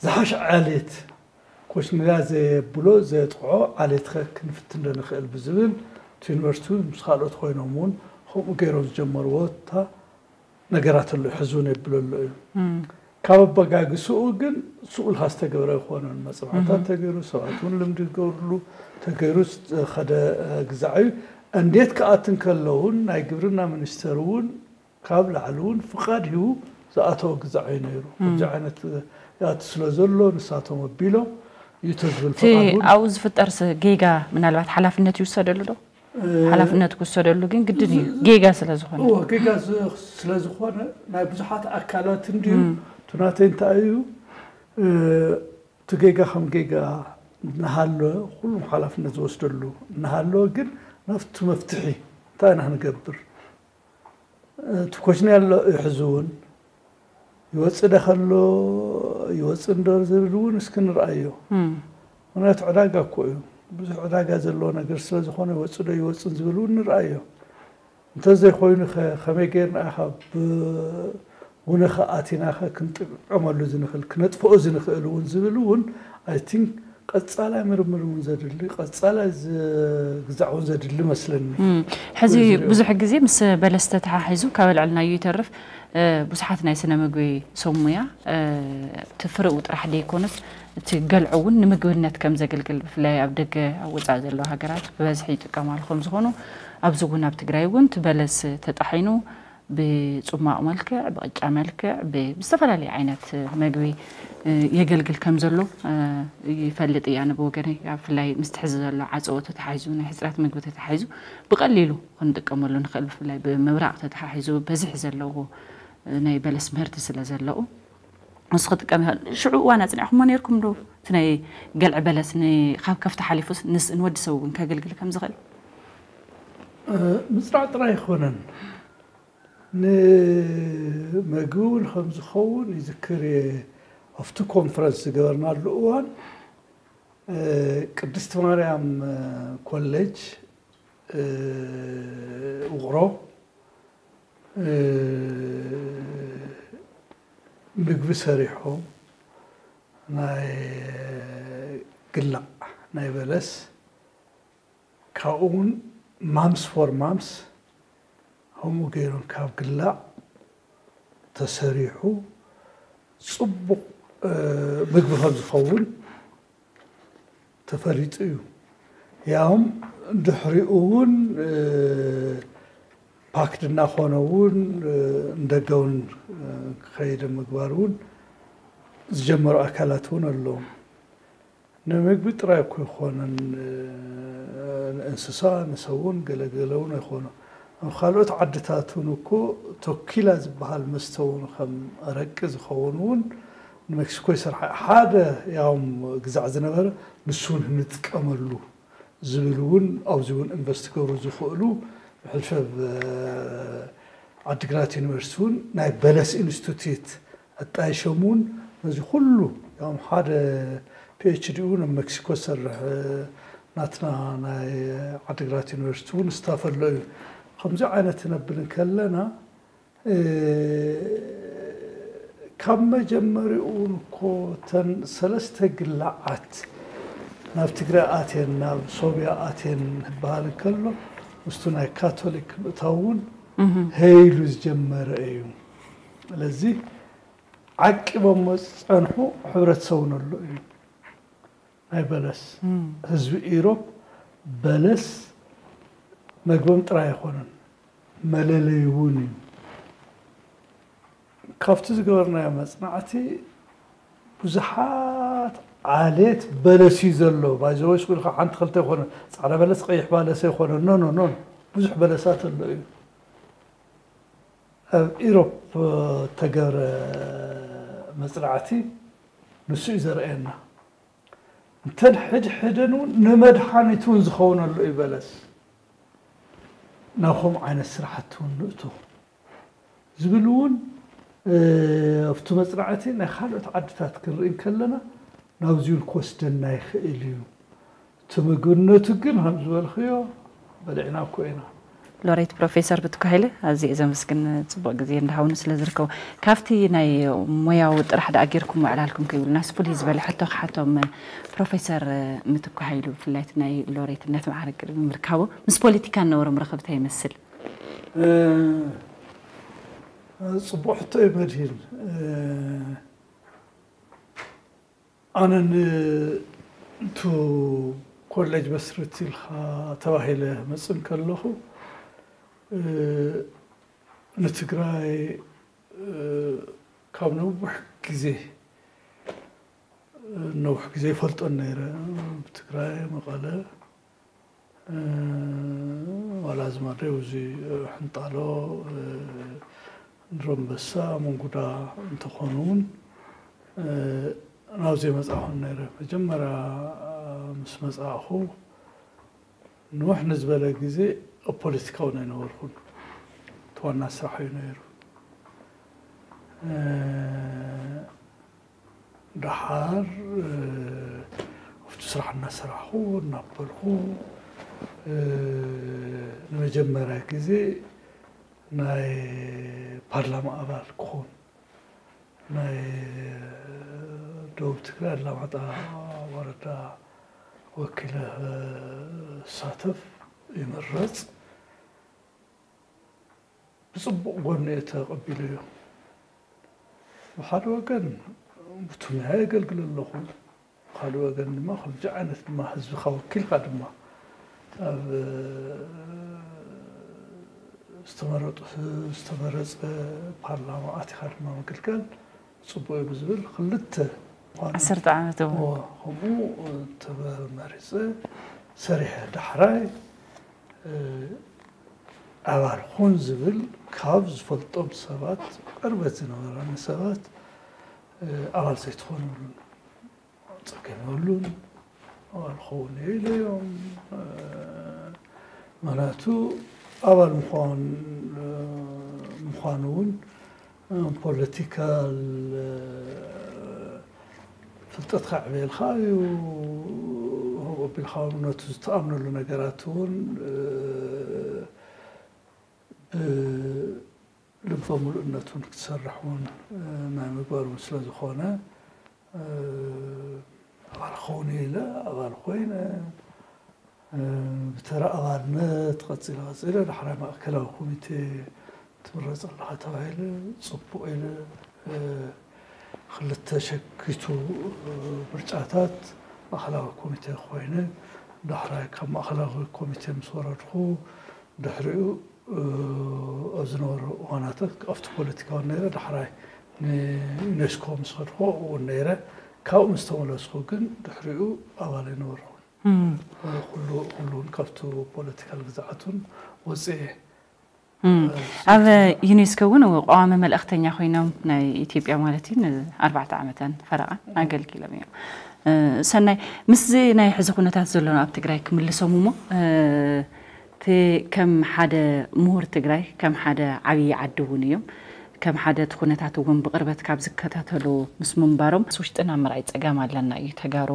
ዝሓሸ ዓሌት ኮሽኒላ ዘየብሎ ዘየጥቕዖ ዓሌት ከ ክንፍትን ዶ ንኽእል ብዝብል እቲ ዩኒቨርሲቲ ምስ ካልኦት ኮይኖም እውን ከምኡ ገይሮም ዝጀመርዎ እታ ነገራት ኣሎ ሕዚ እውን የብለሎ እዩ። ካብ ኣበጋግስኡ ግን ስኡልካ ዝተገብረ ኣይኮነን። መፅናዕታት ተገይሩ ሰባት እውን ልምዲ ዝገብርሉ ተገይሩ ዝኸደ ግዛዕ እዩ። እንዴት ክኣትን ከለውን ናይ ግብርና ሚኒስተር እውን ካብ ላዕሊ እውን ፍቓድ ሂቡ ዝኣተወ ግዛዕ እዩ ነይሩ። ኣብዚ ዓይነት ይኣቱ ስለ ዘሎ ንሳቶም ኣቢሎም እዩ ተዝብል እቲ ፍቓድ እውን ኣብኡ ዝፍጠር ጌጋ ምናልባት ሓላፍነት ይውሰደሉ ዶ? ሓላፍነት ክውሰደሉ ግን ግድን እዩ ጌጋ ስለ ዝኾነ። እዎ ጌጋ ስለ ዝኾነ ናይ ብዙሓት ኣካላት እንድዩ። እቲ ናተይ እንታይ እዩ እቲ ጌጋ ከም ጌጋ እናሃለወ ኩሉም ሓላፍነት ዝወስደሉ እናሃለወ ግን ናብቲ መፍትሒ እንታይ ኢና ክንገብር እቲ ኮሽኒ ኣሎ እዩ ሕዚ እውን ይወፅእ ዶ ከሎ ይወፅእ እንዶ ዝብል እውን እስኪ ንርኣዮ። ምክንያቱ ዕዳጋ እኮ እዩ። ብዙሕ ዕዳጋ ዘለዎ ነገር ስለ ዝኾነ ይወፅእ ዶ ይወፅን ዝብል እውን ንርኣዮ። እንተዘይኮይኑ ከ ከመይ ገይርና ኢኻ ብውነ ከ ኣቲና ከ ክንጥዕመሉ ዝንኽእል ክነጥፍኦ ዝንኽእል እውን ዝብል እውን ኣይ ቲንክ ቀፃላይ ምርምር እውን ዘድሊ ቀፃላይ ግዛዕ እውን ዘድሊ መስለኒ። ሕዚ ብዙሕ ግዜ ምስ በለስ ተተሓሒዙ ካብ ኣልዕልናዮ ይተርፍ ብዙሓት ናይ ስነ ምግቢ ሰብ ሙያ እቲ ፍርኡ ጥራሕ ደይኮነስ እቲ ገልዑ እውን ንምግብነት ከም ዘገልግል ብፍላይ ኣብ ደገ ኣብ ወፃኢ ዘለዋ ሃገራት ብበዝሒ ይጥቀማሉ ከም ዝኾኑ ኣብዚ እውን ኣብ ትግራይ እውን እቲ በለስ ተጣሒኑ ብፁማቕ መልክዕ ብቕጫ መልክዕ ብዝተፈላለየ ዓይነት መግቢ የገልግል ከም ዘሎ ይፈልጥ እየ ኣነ ብወገነይ። ብፍላይ ምስቲ ሕዚ ዘሎ ዓፀቦ ተተሓሒዙ ናይ ሕፅረት ምግቢ ተተሓሒዙ ብቐሊሉ ክንጥቀመሉ ንኽእል ብፍላይ ብምብራቕ ተተሓሒዙ በዝሒ ዘለዎ ናይ በለስ ምህርቲ ስለ ዘለዉ ንሱ ክጥቀም ይኽእል። ሽዑ እዋን ኣፅኒዕኹሞ ነይርኩም ዶ? እቲ ናይ ገልዒ በለስ ካብ ከፍቲ ሓሊፉስ ንወዲ ሰብ እውን ከገልግል ከም ዝኽእል ምፅራዕ ጥራይ ኣይኮነን። ንመግቢ እውን ከም ዝኸውን ይዝክር እየ። ኣብቲ ኮንፈረንስ ዝገበርናሉ እዋን ቅድስቲ ማርያም ኮሌጅ ውቕሮ ምግቢ ሰሪሖም ናይ ግላዕ ናይ በለስ ካብኡ እውን ማምስ ፎር ማምስ ከምኡ ገይሮም ካብ ግላዕ ተሰሪሑ ፅቡቕ ምግቢ ከም ዝኸውን ተፈሊጡ እዩ። ያውም ድሕሪኡ እውን ፓክድ እናኾነ እውን ንደገ እውን ክኸይድ ምግባር እውን ዝጀመሩ ኣካላት እውን ኣለዉ። ንምግቢ ጥራይ እኮ ይኾነን፣ ንእንስሳ ንሰብ እውን ገለገለ እውን ኣይኾኑ። ኣብ ካልኦት ዓድታት እውን እኮ ቶኪላ ዝበሃል መስተ እውን ከም ኣረቂ ዝኸውን እውን ንሜክሲኮ ይሰርሓ። ሓደ ያውም ግዛዕ ዝነበረ ንሱ እውን ንጥቀመሉ ዝብል እውን ኣብዚ እውን ኢንቨስት ክገብሩ ዝኽእሉ ብሕልፈብ ዓዲግራት ዩኒቨርሲቲ እውን ናይ በለስ ኢንስቲትዩት ኣጣይሾም እውን ነዚ ኩሉ ያም ሓደ ፒኤችዲ እውን ኣብ ሜክሲኮ ዝሰርሕ ናትና ናይ ዓዲግራት ዩኒቨርሲቲ እውን ስታፍ ኣሎ እዩ። ከምዚ ዓይነት ነብል እንከለና ካብ መጀመሪኡ እውን እኮ እተን ሰለስተ ግላዓት ናብ ትግራይ ኣትየን ናብ ሶብያ ኣትየን ዝበሃል እንከሎ ምስቱ ናይ ካቶሊክ ምእታው እውን ሀይሉ ዝጀመረ እዩ። ስለዚ ዓቂቦሞ ዝፀንሑ ሕብረተሰቡ ነሎ እዩ። ናይ በለስ ህዝቢ ኢሮብ በለስ መግቦም ጥራይ ኣይኮነን፣ መለለይ እውን እዩ። ካብቲ ዝገበርናዮ መፅናዕቲ ብዙሓት ዓሌት በለስ እዩ ዘሎ። ባይዘወይ ስጉልካ ሓንቲ ክልተ ይኮነ ፃዕዳ በለስ ቀይሕ ባለስ ይኮነ ኖ ኖ ኖ ብዙሕ በለሳት ኣሎ እዩ። ኣብ ኢሮፕ ተገብረ መፅናዕቲ ንሱ እዩ ዘርእየና። እንተን ሕድሕደን እውን ንመድሓኒት እውን ዝኸውን ኣሎ እዩ በለስ። ናብ ከምኡ ዓይነት ስራሕቲ እውን ንእቶ ዝብል እውን ኣብቲ መፅናዕቲ ናይ ካልኦት ዓድታት ክንርኢ ከለና ናብዚ እውን ክወስደና ይኽእል እዩ። እቲ ምግብነቱ ግን ከም ዝበልክዮ በሊዕና እኮ ኢና። ሎሬት ፕሮፌሰር ብትኩ ሃይለ ኣዝየ ዘመስግን፣ ፅቡቕ ግዜ እንዳሃውኑ ስለ ዝርከቡ። ካብቲ ናይ ሞያዊ ጥራሕ ደኣ ጌርኩም ምዕላልኩም ከይብሉ ናስ ፍሉይ ዝበለ ሕቶ ክሓቶም ፕሮፌሰር ምትኩ ሃይሉ ብፍላይ እቲ ናይ ሎሬትነት መዓርግ ቅድሚ ምርካቡ ምስ ፖለቲካ ዝነበሮም ርኽብታ ይመስል? ፅቡቕ ሕቶ እዩ መድሂን። ኣነ ንቱ ኮሌጅ መስርት ኢልካ ተባሂለ መፅእ ከለኹ ንትግራይ ካብ ነዊሕ ግዜ ነዊሕ ግዜ ይፈልጦን ነይረ። ብትግራይ መቐለ ዋላ ዝማደው እዚ ሕንጣሎ ድሮምበሳ መንጉዳ እንተኾኑ እውን ናብዚ መፃኹን ነይረ። መጀመርያ ምስ መፃእኹ ንውሕ ንዝበለ ግዜ ኣብ ፖለቲካውን ኣይነበርኩን። እቲ ዋና ስራሕ እዩ ነይሩ። ደሓር ኣብቲ ስራሕ እናሰራሕኹ እናበልኩ ንመጀመርያ ግዜ ናይ ፓርላማ ኣባል ክኾን ናይ ደቡብ ትግራይ ኣላማጣ ወረዳ ወኪለ ክሳተፍ ይምረፅ። ብፅቡቕ ጎኒ እየ ተቐቢለዮ። ብሓደ ወገን ብትሙያ የገልግል ኣለኹ፣ ካልእ ወገን ድማ ከምዚ ዓይነት ድማ ህዝብኻ ወኪልካ ድማ ኣብ ዝተመረጡ ዝተመረፀ ፓርላማ ኣቲኻ ድማ ምግልጋል ፅቡቅ እዩ ብዝብል ክልተ ዓሰርተ ዓመት እዎ ከምኡ ተመሪፀ ሰሪሐ ዳሕራይ ኣባል ኹን ዝብል ካብ ዝፈልጦም ሰባት ቅርበት ዝነበረኒ ሰባት ኣባል ዘይትኾኑ ይብሉኒ። ፀገም የብሉን ኣባል ክኸውን እየ ኢለዮም። ምክንያቱ ኣባል ምዃን ምዃኑ እውን ፖለቲካል ፍልጠትካ ዕብየልካ እዩ። ከምኡ ኣቢልካ እውን ነቲ ዝተኣምነሉ ነገራት እውን ብልበ ሙሉእነት እውን ክትሰርሕ እውን ናይ ምግባር እውን ስለ ዝኾነ ኣባል ክኸውን እየ ኢለ ኣባል ኮይነ ብተራ ኣባልነት ቀፂለ ቀፂለ ዳሕራይ ማእከላዊ ኮሚቴ ትምረፅ ኣለኻ ተባሂለ ፅቡቕ ኢለ ክልተ ሸኪቱ ምርጫታት ማእኸላዊ ኮሚቴ ኮይነ፣ ዳሕራይ ካብ ማእኸላዊ ኮሚቴ ምስ ወረድኩ፣ ድሕሪኡ ኣብ ዝነበሩ እዋናት ኣብቲ ፖለቲካዊ ነይረ፣ ዳሕራይ ንዩኔስኮ ምስ ከድኩ እውን ነይረ። ካብኡ ምስ ተመለስኩ ግን ድሕሪኡ ኣባል ኣይነበርኩን። ኩሉ ኩሉን ካብቲ ፖለቲካል ግዝኣቱን ወፅኤ ኣብ ዩኔስኮ እውን ቀዋሚ መልእኽተኛ ኮይኖም ናይ ኢትዮጵያ ማለት እዩ ንኣርባዕተ ዓመታን ፈረቓን ኣገልጊሎም እዮም። ሰናይ፣ ምስዚ ናይ ሕዚ ኩነታት ዘሎና ኣብ ትግራይ ክምልሶም እሞ፣ እቲ ከም ሓደ ምሁር ትግራይ፣ ከም ሓደ ዓብዪ ዓዲ እውን እዮም። ከም ሓደ እቲ ኩነታት እውን ብቕርበት ካብ ዝከታተሉ ምስ ምንባሮም፣ ምስ ውሽጥና ምርኣይ ጸገም ኣለና እዩ ተጋሩ።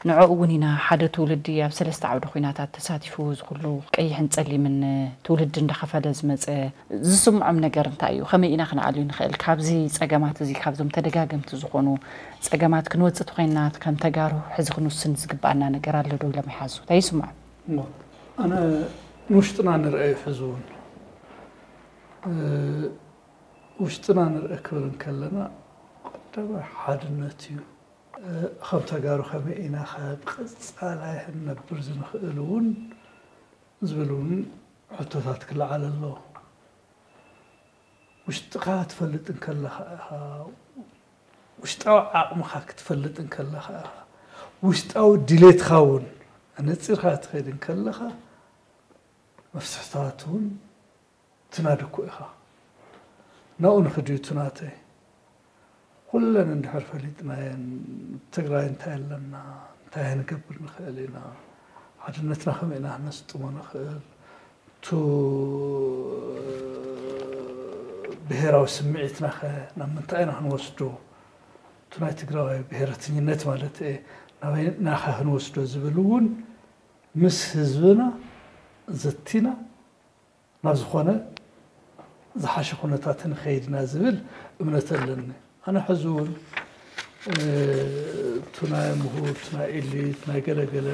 ንዕኡ እውን ኢና ሓደ ትውልዲ ኣብ ሰለስተ ዓውዲ ኩናታት ተሳቲፉ፣ እዚ ኩሉ ቀይሕን ጸሊምን ትውልዲ እንዳኸፈለ ዝመጸ ዝስምዖም ነገር እንታይ እዩ? ከመይ ኢና ክንኣልዩ ንኽእል? ካብዚ ጸገማት እዚ፣ ካብዞም ተደጋገምቲ ዝኾኑ ጸገማት ክንወጽእ ተኾይንና፣ ከም ተጋሩ ሕዚ ክንውስን ዝግብኣና ነገር ኣሎ ዶ ኢሎም ይሓዙ? እንታይ ይስምዖም? እሞ ኣነ ንውሽጥና ንርአዮ ሕዚ እውን ውሽጥና ንርአ ክብል እንከለና ቀዳማይ ሓድነት እዩ። ከም ተጋሩ ከመይ ኢና ከ ብቐጻላይ ክንነብር ዝንኽእል እውን ዝብል እውን ሕቶታት ክለዓል ኣለዎ። ውሽጥኻ ክትፈልጥ እንከለኻ ኢኻ፣ ውሽጣዊ ዓቕምኻ ክትፈልጥ እንከለኻ ኢኻ፣ ውሽጣዊ ድሌትካ እውን ኣነጺርካ ክትኸይድ እንከለኻ መፍትሕታት እውን ትናድኩ ኢኻ። ናብኡ ንኽድዩ ትናተይ ኩለን እንድሕር ፈሊጥናየን ትግራይ እንታይ ኣለና፣ እንታይ ክንገብር ንኽእል ኢና፣ ሓድነትና ከመይ ኢና ክነስጥሞ ንኽእል፣ ቱ ብሄራዊ ስምዒትና ኸ ናብ ምንታይ ኢና ክንወስዶ፣ ቱ ናይ ትግራዋይ ብሄረትኝነት ማለት እየ ናበይ ናኸ ክንወስዶ ዝብል እውን ምስ ህዝብና ዘቲና ናብ ዝኾነ ዝሓሸ ኩነታት ንኸይድ ኢና ዝብል እምነት ኣለኒ። ኣነ ሕዚ እውን እቱ ናይ ምሁር፣ እቱ ናይ ኤሊት፣ ናይ ገለገለ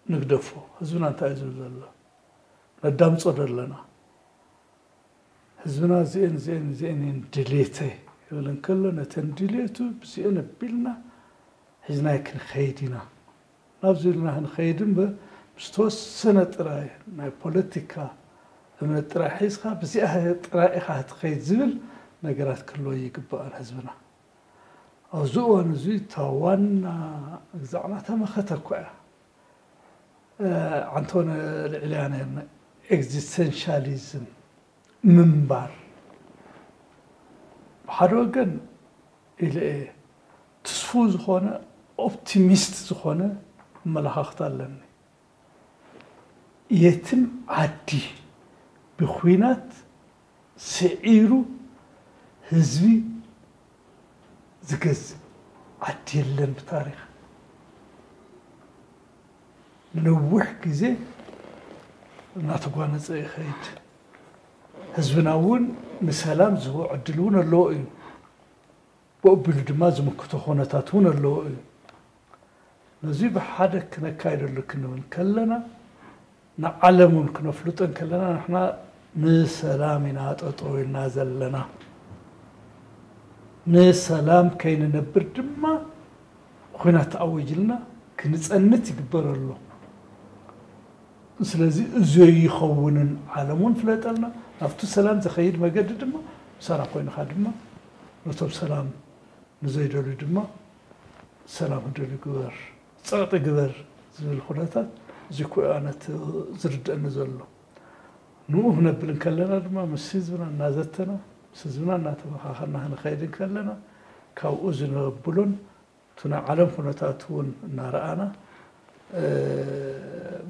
ንግደፎ። ህዝብና እንታይ እዩ ዝብል ዘሎ? ነዳምጾ ዶ ኣለና? ህዝብና እዚኤን እዚኤን እዚኤን እየን ድሌተይ ይብል እንከሎ ነተን ድሌቱ ብዚኤን ኣቢልና ሒዝናይ ክንኸይድ ኢና። ናብዚ ኢልና ክንኸይድ እምበር ምስ ተወሰነ ጥራይ ናይ ፖለቲካ እምነት ጥራይ ሒዝካ ብዚኣ ጥራይ ኢኻ ክትኸይድ ዝብል ነገራት ክህልዎ ይግባእን ህዝብና። ኣብዚ እዋን እዚ እታ ዋና ግዛዕና ተመኸተ እኳ እያ። ዓንቶነ ልዕልያ ነርና ኤግዚስተንሻሊዝም ምንባር ብሓደ ወገን ኢለ እየ ትስፉው ዝኾነ ኦፕቲሚስት ዝኾነ ኣመለኻኽታ ኣለኒ። የትም ዓዲ ብኹናት ስዒሩ ህዝቢ ዝገዝእ ዓዲ የለን ብታሪኽ። ንነዊሕ ግዜ እናተጓነፀ ይኸይድ። ህዝብና እውን ንሰላም ዝህቦ ዕድል እውን ኣለዎ እዩ። ብኡ ኣቢሉ ድማ ዝምክቶ ኩነታት እውን ኣለዎ እዩ። ነዚ ብሓደ ክነካይደሉ ክንብል ከለና ንዓለም እውን ክነፍልጦ እንከለና ንሕና ንሰላም ኢና ጠጠው ኢልና ዘለና። ንሰላም ከይንነብር ድማ ኹናት ተኣዊጅልና ክንፀንት ይግበር ኣሎ። ስለዚ እዚ ይኸውንን ዓለም እውን ፍለጠልና ናብቲ ሰላም ዝኸይድ መገዲ ድማ ምሳና ኮይንኻ ድማ ነቶም ሰላም ንዘይደልዩ ድማ ሰላም ክደልዩ ግበር፣ ፀቕጢ ግበር ዝብል ኩነታት እዚ ኩ ኣነት ዝርድአኒ ዘሎ። ንኡ ክነብል እንከለና ድማ ምስ ህዝብና እናዘተና ምስ ህዝብና እናተመኻኸልና ክንኸይድ እንከለና ካብኡ ዝነብሉን እቲ ናይ ዓለም ኩነታት እውን እናረኣና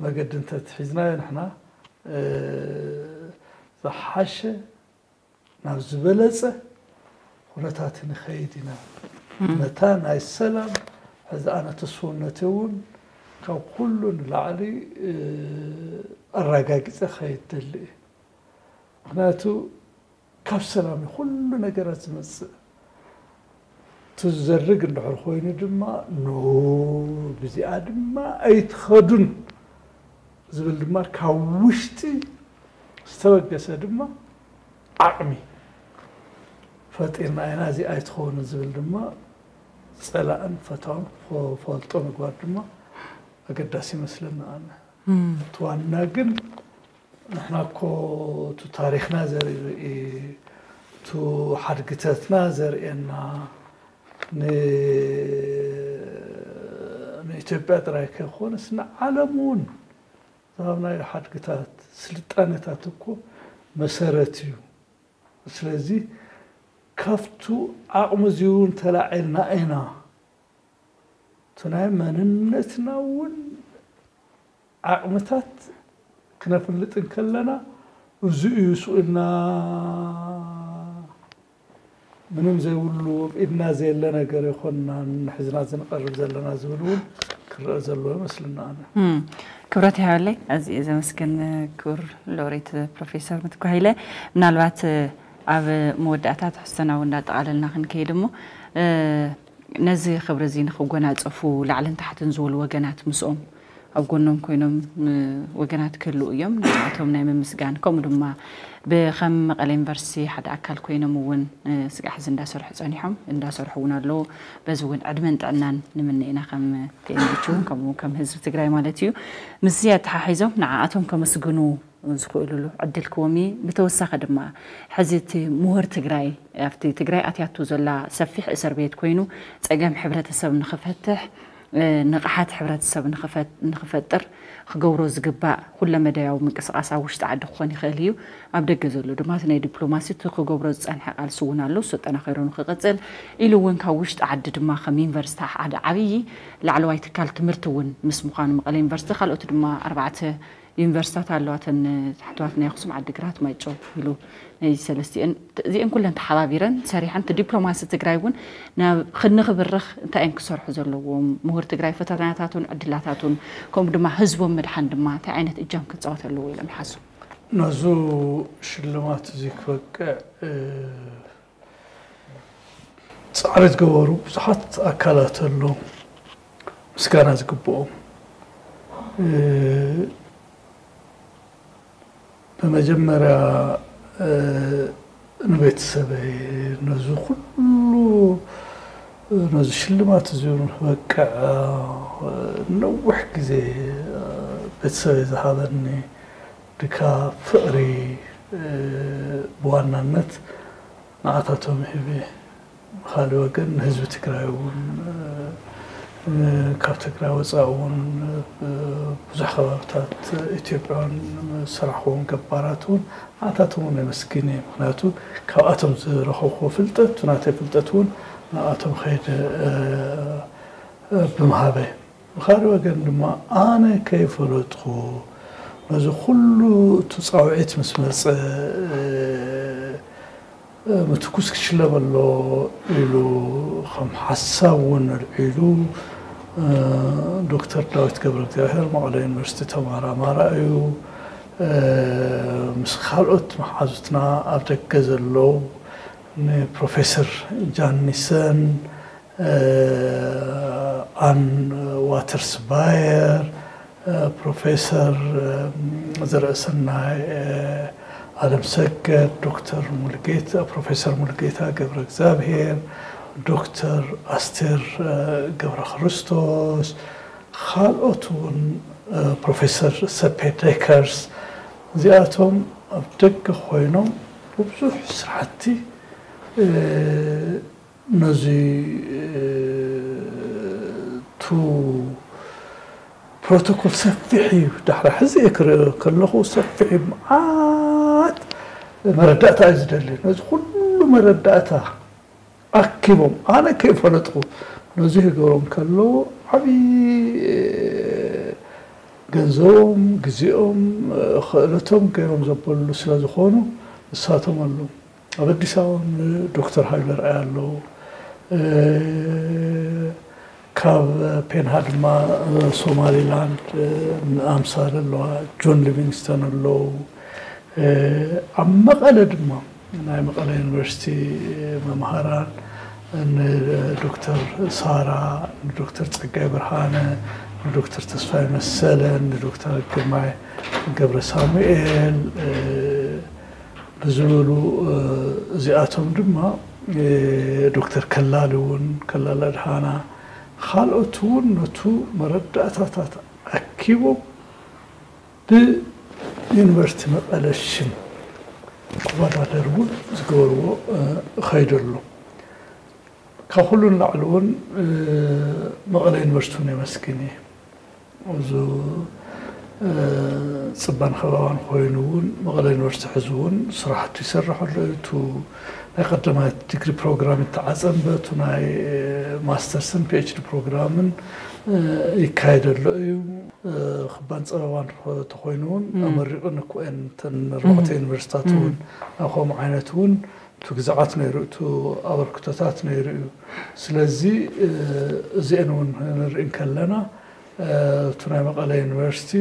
መገዲ እንተትሒዝናዮ ንሕና ዝሓሸ ናብ ዝበለፀ ኩነታት ንኸይድ ኢና። ነታ ናይ ሰላም ሕዚ ኣነ ተስፍውነተይ እውን ካብ ኩሉ ንላዕሊ ኣረጋጊፀ ከይድ ደሊ እየ። ምክንያቱ ካብ ሰላም እዩ ኩሉ ነገራት ዝመፅእ። ትዘርግ እንድሕር ኮይኑ ድማ ኖ ብዚኣ ድማ ኣይትኸዱን ዝብል ድማ ካብ ውሽጢ ዝተበገሰ ድማ ዓቕሚ ፈጢርና ኢና፣ እዚ ኣይትኸውን ዝብል ድማ ጸላእን ፈታውን ክፈልጦ ምግባር ድማ ኣገዳሲ ይመስለና። ኣነ እቲ ዋና ግን ንሕና እኮ እቲ ታሪኽና ዘርኢ፣ እቲ ሓድግታትና ዘርእየና፣ ንኢትዮጵያ ጥራይ ከይኮነስ ንዓለም እውን ዝሃብናዮ ሓድግታት፣ ስልጣነታት እኮ መሰረት እዩ። ስለዚ ካብቱ ዓቕሚ እዚውን ተላዒልና ኢና እቲ ናይ መንነትና እውን ዓቕምታት ክነፍልጥ እንከለና፣ እዚ እዩ ስኡልና፣ ምንም ዘይብሉ ኣብ ኢድና ዘየለ ነገር ይኮንና ንሕዝና ዝንቐርብ ዘለና ዝብል እውን ክረአ ዘለዎ ይመስልና። ኣነ ክብረት ይሃበለይ። ኣዝየ ዘመስግን ክቡር ሎሬት ፕሮፌሰር ምትኩ ሃይለ። ምናልባት ኣብ መወዳእታ ትሕዝቶና እውን እንዳጠቓለልና ክንከይድ እሞ፣ ነዚ ክብሪ እዚ ንክጎናፀፉ ላዕልን ታሕትን ዝብሉ ወገናት ምስኦም ኣብ ጎኖም ኮይኖም ወገናት ክህልው እዮም። ንዓቶም ናይ ምምስጋን፣ ከምኡ ድማ ብከም መቐለ ዩኒቨርሲቲ ሓደ ኣካል ኮይኖም እውን ስጋዕ ሕዚ እንዳሰርሑ ፀኒሖም፣ እንዳሰርሑ እውን ኣለዉ። በዚ እውን ዕድመን ጥዕናን ንምነ ኢና ከም ቲኤምኤች እውን ከምኡ ከም ህዝቢ ትግራይ ማለት እዩ። ምስዚ ኣተሓሒዞም ንዓኣቶም ከመስግኑ ዝኽእሉሉ ዕድል ክዎም እዩ። ብተወሳኺ ድማ ሕዚ እቲ ምሁር ትግራይ ኣብቲ ትግራይ ኣትያቶ ዘላ ሰፊሕ እስር ቤት ኮይኑ ፀገም ሕብረተሰብ ንኽፈትሕ ንቕሓት ሕብረተሰብ ንኽፈጥር ክገብሮ ዝግባእ ኩለመዳያዊ ምንቅስቓስ ኣብ ውሽጢ ዓዲ ክኾን ይኽእል እዩ። ኣብ ደገ ዘሎ ድማ እቲ ናይ ዲፕሎማሲ እቲ ክገብሮ ዝፀንሐ ቃልሲ እውን ኣሎ። እሱ ኣጠናኺሩ ንክቕፅል ኢሉ እውን ካብ ውሽጢ ዓዲ ድማ ከም ዩኒቨርሲቲ ሓደ ዓብዪ ላዕለዋይ ትካል ትምህርቲ እውን ምስ ምዃኑ መቐለ ዩኒቨርሲቲ ካልኦት ድማ ኣርባዕተ ዩኒቨርሲታት ኣለዋ። እተን ታሕተዋት ናይ ኣኽሱም፣ ዓዲግራት፣ ማይጨው ኢሉ ናይ ሰለስቲኤን እዚኤን ኩለን ተሓባቢረን ሰሪሐን እቲ ዲፕሎማሲ ትግራይ እውን ናብ ክንክብርኽ እንታይ እዮም ክሰርሑ ዘለዎም? ምሁር ትግራይ ፈተናታቱን ዕድላታቱን ከምኡ ድማ ህዝቦም ምድሓን ድማ እንታይ ዓይነት እጃም ክፃወት ኣለዎ ኢሎም ይሓስቡ? ነዙ ሽልማት እዚ ክበቅዕ ፃዕሪ ዝገበሩ ብዙሓት ኣካላት ኣለዉ ምስጋና ዝግብኦም። ብመጀመርያ ንቤተሰበይ ነዚ ኩሉ ነዚ ሽልማት እዚ ንክበቅዕ ነዊሕ ግዜ ቤተሰበይ ዝሃበኒ ድካ ፍቕሪ ብዋናነት ንዓታቶም ሂበ። ብኻልእ ወገን ንህዝቢ ትግራይ እውን ካብ ትግራይ ወፃኢ እውን ብዙሕ ከባብታት ኢትዮጵያ እውን ዝሰራሕክዎም ገባራት እውን ንዓታቶም እውን የመስግን እየ። ምክንያቱ ካብኣቶም ዝረኸብክዎ ፍልጠት ናተይ ፍልጠት እውን ንኣቶም ከይደ ብምሃበይ። ብኻልእ ወገን ድማ ኣነ ከይፈለጥኩ ነዚ ኩሉ እቲ ፃውዒት ምስ መፀ ምትኩስ ክሽለም ኣሎ ኢሉ ከም ሓሳብ እውን ኣልዒሉ ዶክተር ዳዊት ገብረ እግዚኣብሔር መቐለ ዩኒቨርሲቲ ተመራማራ እዩ። ምስ ካልኦት መሓዙትና ኣብ ደገ ዘለዉ ንፕሮፌሰር ጃኒሰን ኣን ዋተርስ ባየር፣ ፕሮፌሰር ዘርእሰናይ ኣለም ሰገድ፣ ዶክተር ሙልጌታ ፕሮፌሰር ሙልጌታ ገብረ እግዚኣብሔር፣ ዶክተር ኣስቴር ገብረ ክርስቶስ፣ ካልኦት እውን ፕሮፌሰር ሰፔ ደከርስ እዚኣቶም ኣብ ደገ ኮይኖም ብብዙሕ ስራሕቲ ነዚ ቱ ፕሮቶኮል ሰፊሕ እዩ። ዳሕራ ሕዚ እየ ክርኢ ከለኹ ሰፊሕ እዩ። መዓት መረዳእታ እዩ ዝደሊ። ነዚ ኩሉ መረዳእታ ኣኪቦም ኣነ ከይፈለጥኩ ነዚ ክገብሮም ከለዉ ዓብዪ ገንዘቦም፣ ግዜኦም፣ ክእለቶም ገይሮም ዘበሉ ስለ ዝኾኑ ንሳቶም ኣለዉ። ኣብ ኣዲስ ኣበባ ዶክተር ሃይለ ርኣይ ኣለዉ። ካብ ፔንሃ ድማ ሶማሊላንድ ኣምሳል ኣለዋ፣ ጆን ሊቪንግስተን ኣለዉ። ኣብ መቐለ ድማ ናይ መቐለ ዩኒቨርሲቲ መምሃራን ንዶክተር ሳራ፣ ንዶክተር ጸጋይ ብርሃነ፣ ንዶክተር ተስፋይ መሰለ፣ ንዶክተር ግርማይ ገብረ ሳሙኤል ብዝበሉ እዚኣቶም ድማ ዶክተር ከላሊ እውን፣ ከላሊ ኣድሃና፣ ካልኦት እውን ነቱ መረዳእታታት ኣኪቦም ብዩኒቨርሲቲ መቐለ ሽም ክወዳደር እውን ዝገበርዎ ከይዱ ኣሎ። ካብ ኩሉ ንላዕሊ እውን መቐለ ዩኒቨርሲቲ እውን የመስግን እየ። እዚ ፅባን ከባባን ኮይኑ እውን መቐለ ዩኒቨርሲቲ ሕዚ እውን ስራሕቱ ይሰርሕ ኣሎ። እቲ ናይ ቀዳማይ ዲግሪ ፕሮግራም ይተዓፀ እምበር፣ እቲ ናይ ማስተርስን ፒኤችዲ ፕሮግራምን ይካየድ ኣሎ እዩ። ክባን ፀበባን ተኮይኑ እውን ኣመሪቑ ንክእን እተን ኣርባዕተ ዩኒቨርሲታት እውን ኣብ ከምኡ ዓይነት እውን እቲ ግዛዓት ነይሩ፣ እቲ ኣበርክቶታት ነይሩ እዩ። ስለዚ እዚአን እውን ንርኢ እንከለና፣ እቲ ናይ መቐለ ዩኒቨርሲቲ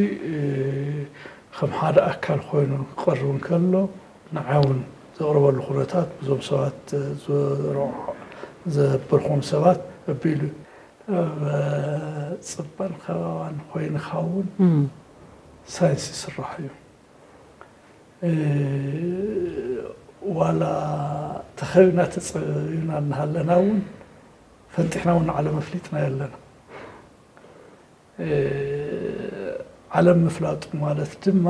ከም ሓደ ኣካል ኮይኑ ክቐርብ እንከሎ፣ ንዓይ እውን ዘቕርበሉ ኩነታት፣ ብዞም ሰባት ዘበርኹም ሰባት ኣቢሉ ኣብ ፅባን ከባባን ኮይንካ እውን ሳይንስ ይስራሕ እዩ። ዋላ ተኸቢና ተፀቢብና እናሃለና እውን ፈንጢሕና እውን ንዓለም ኣፍሊጥና ኣለና። ዓለም ምፍላጡ ማለት ድማ፣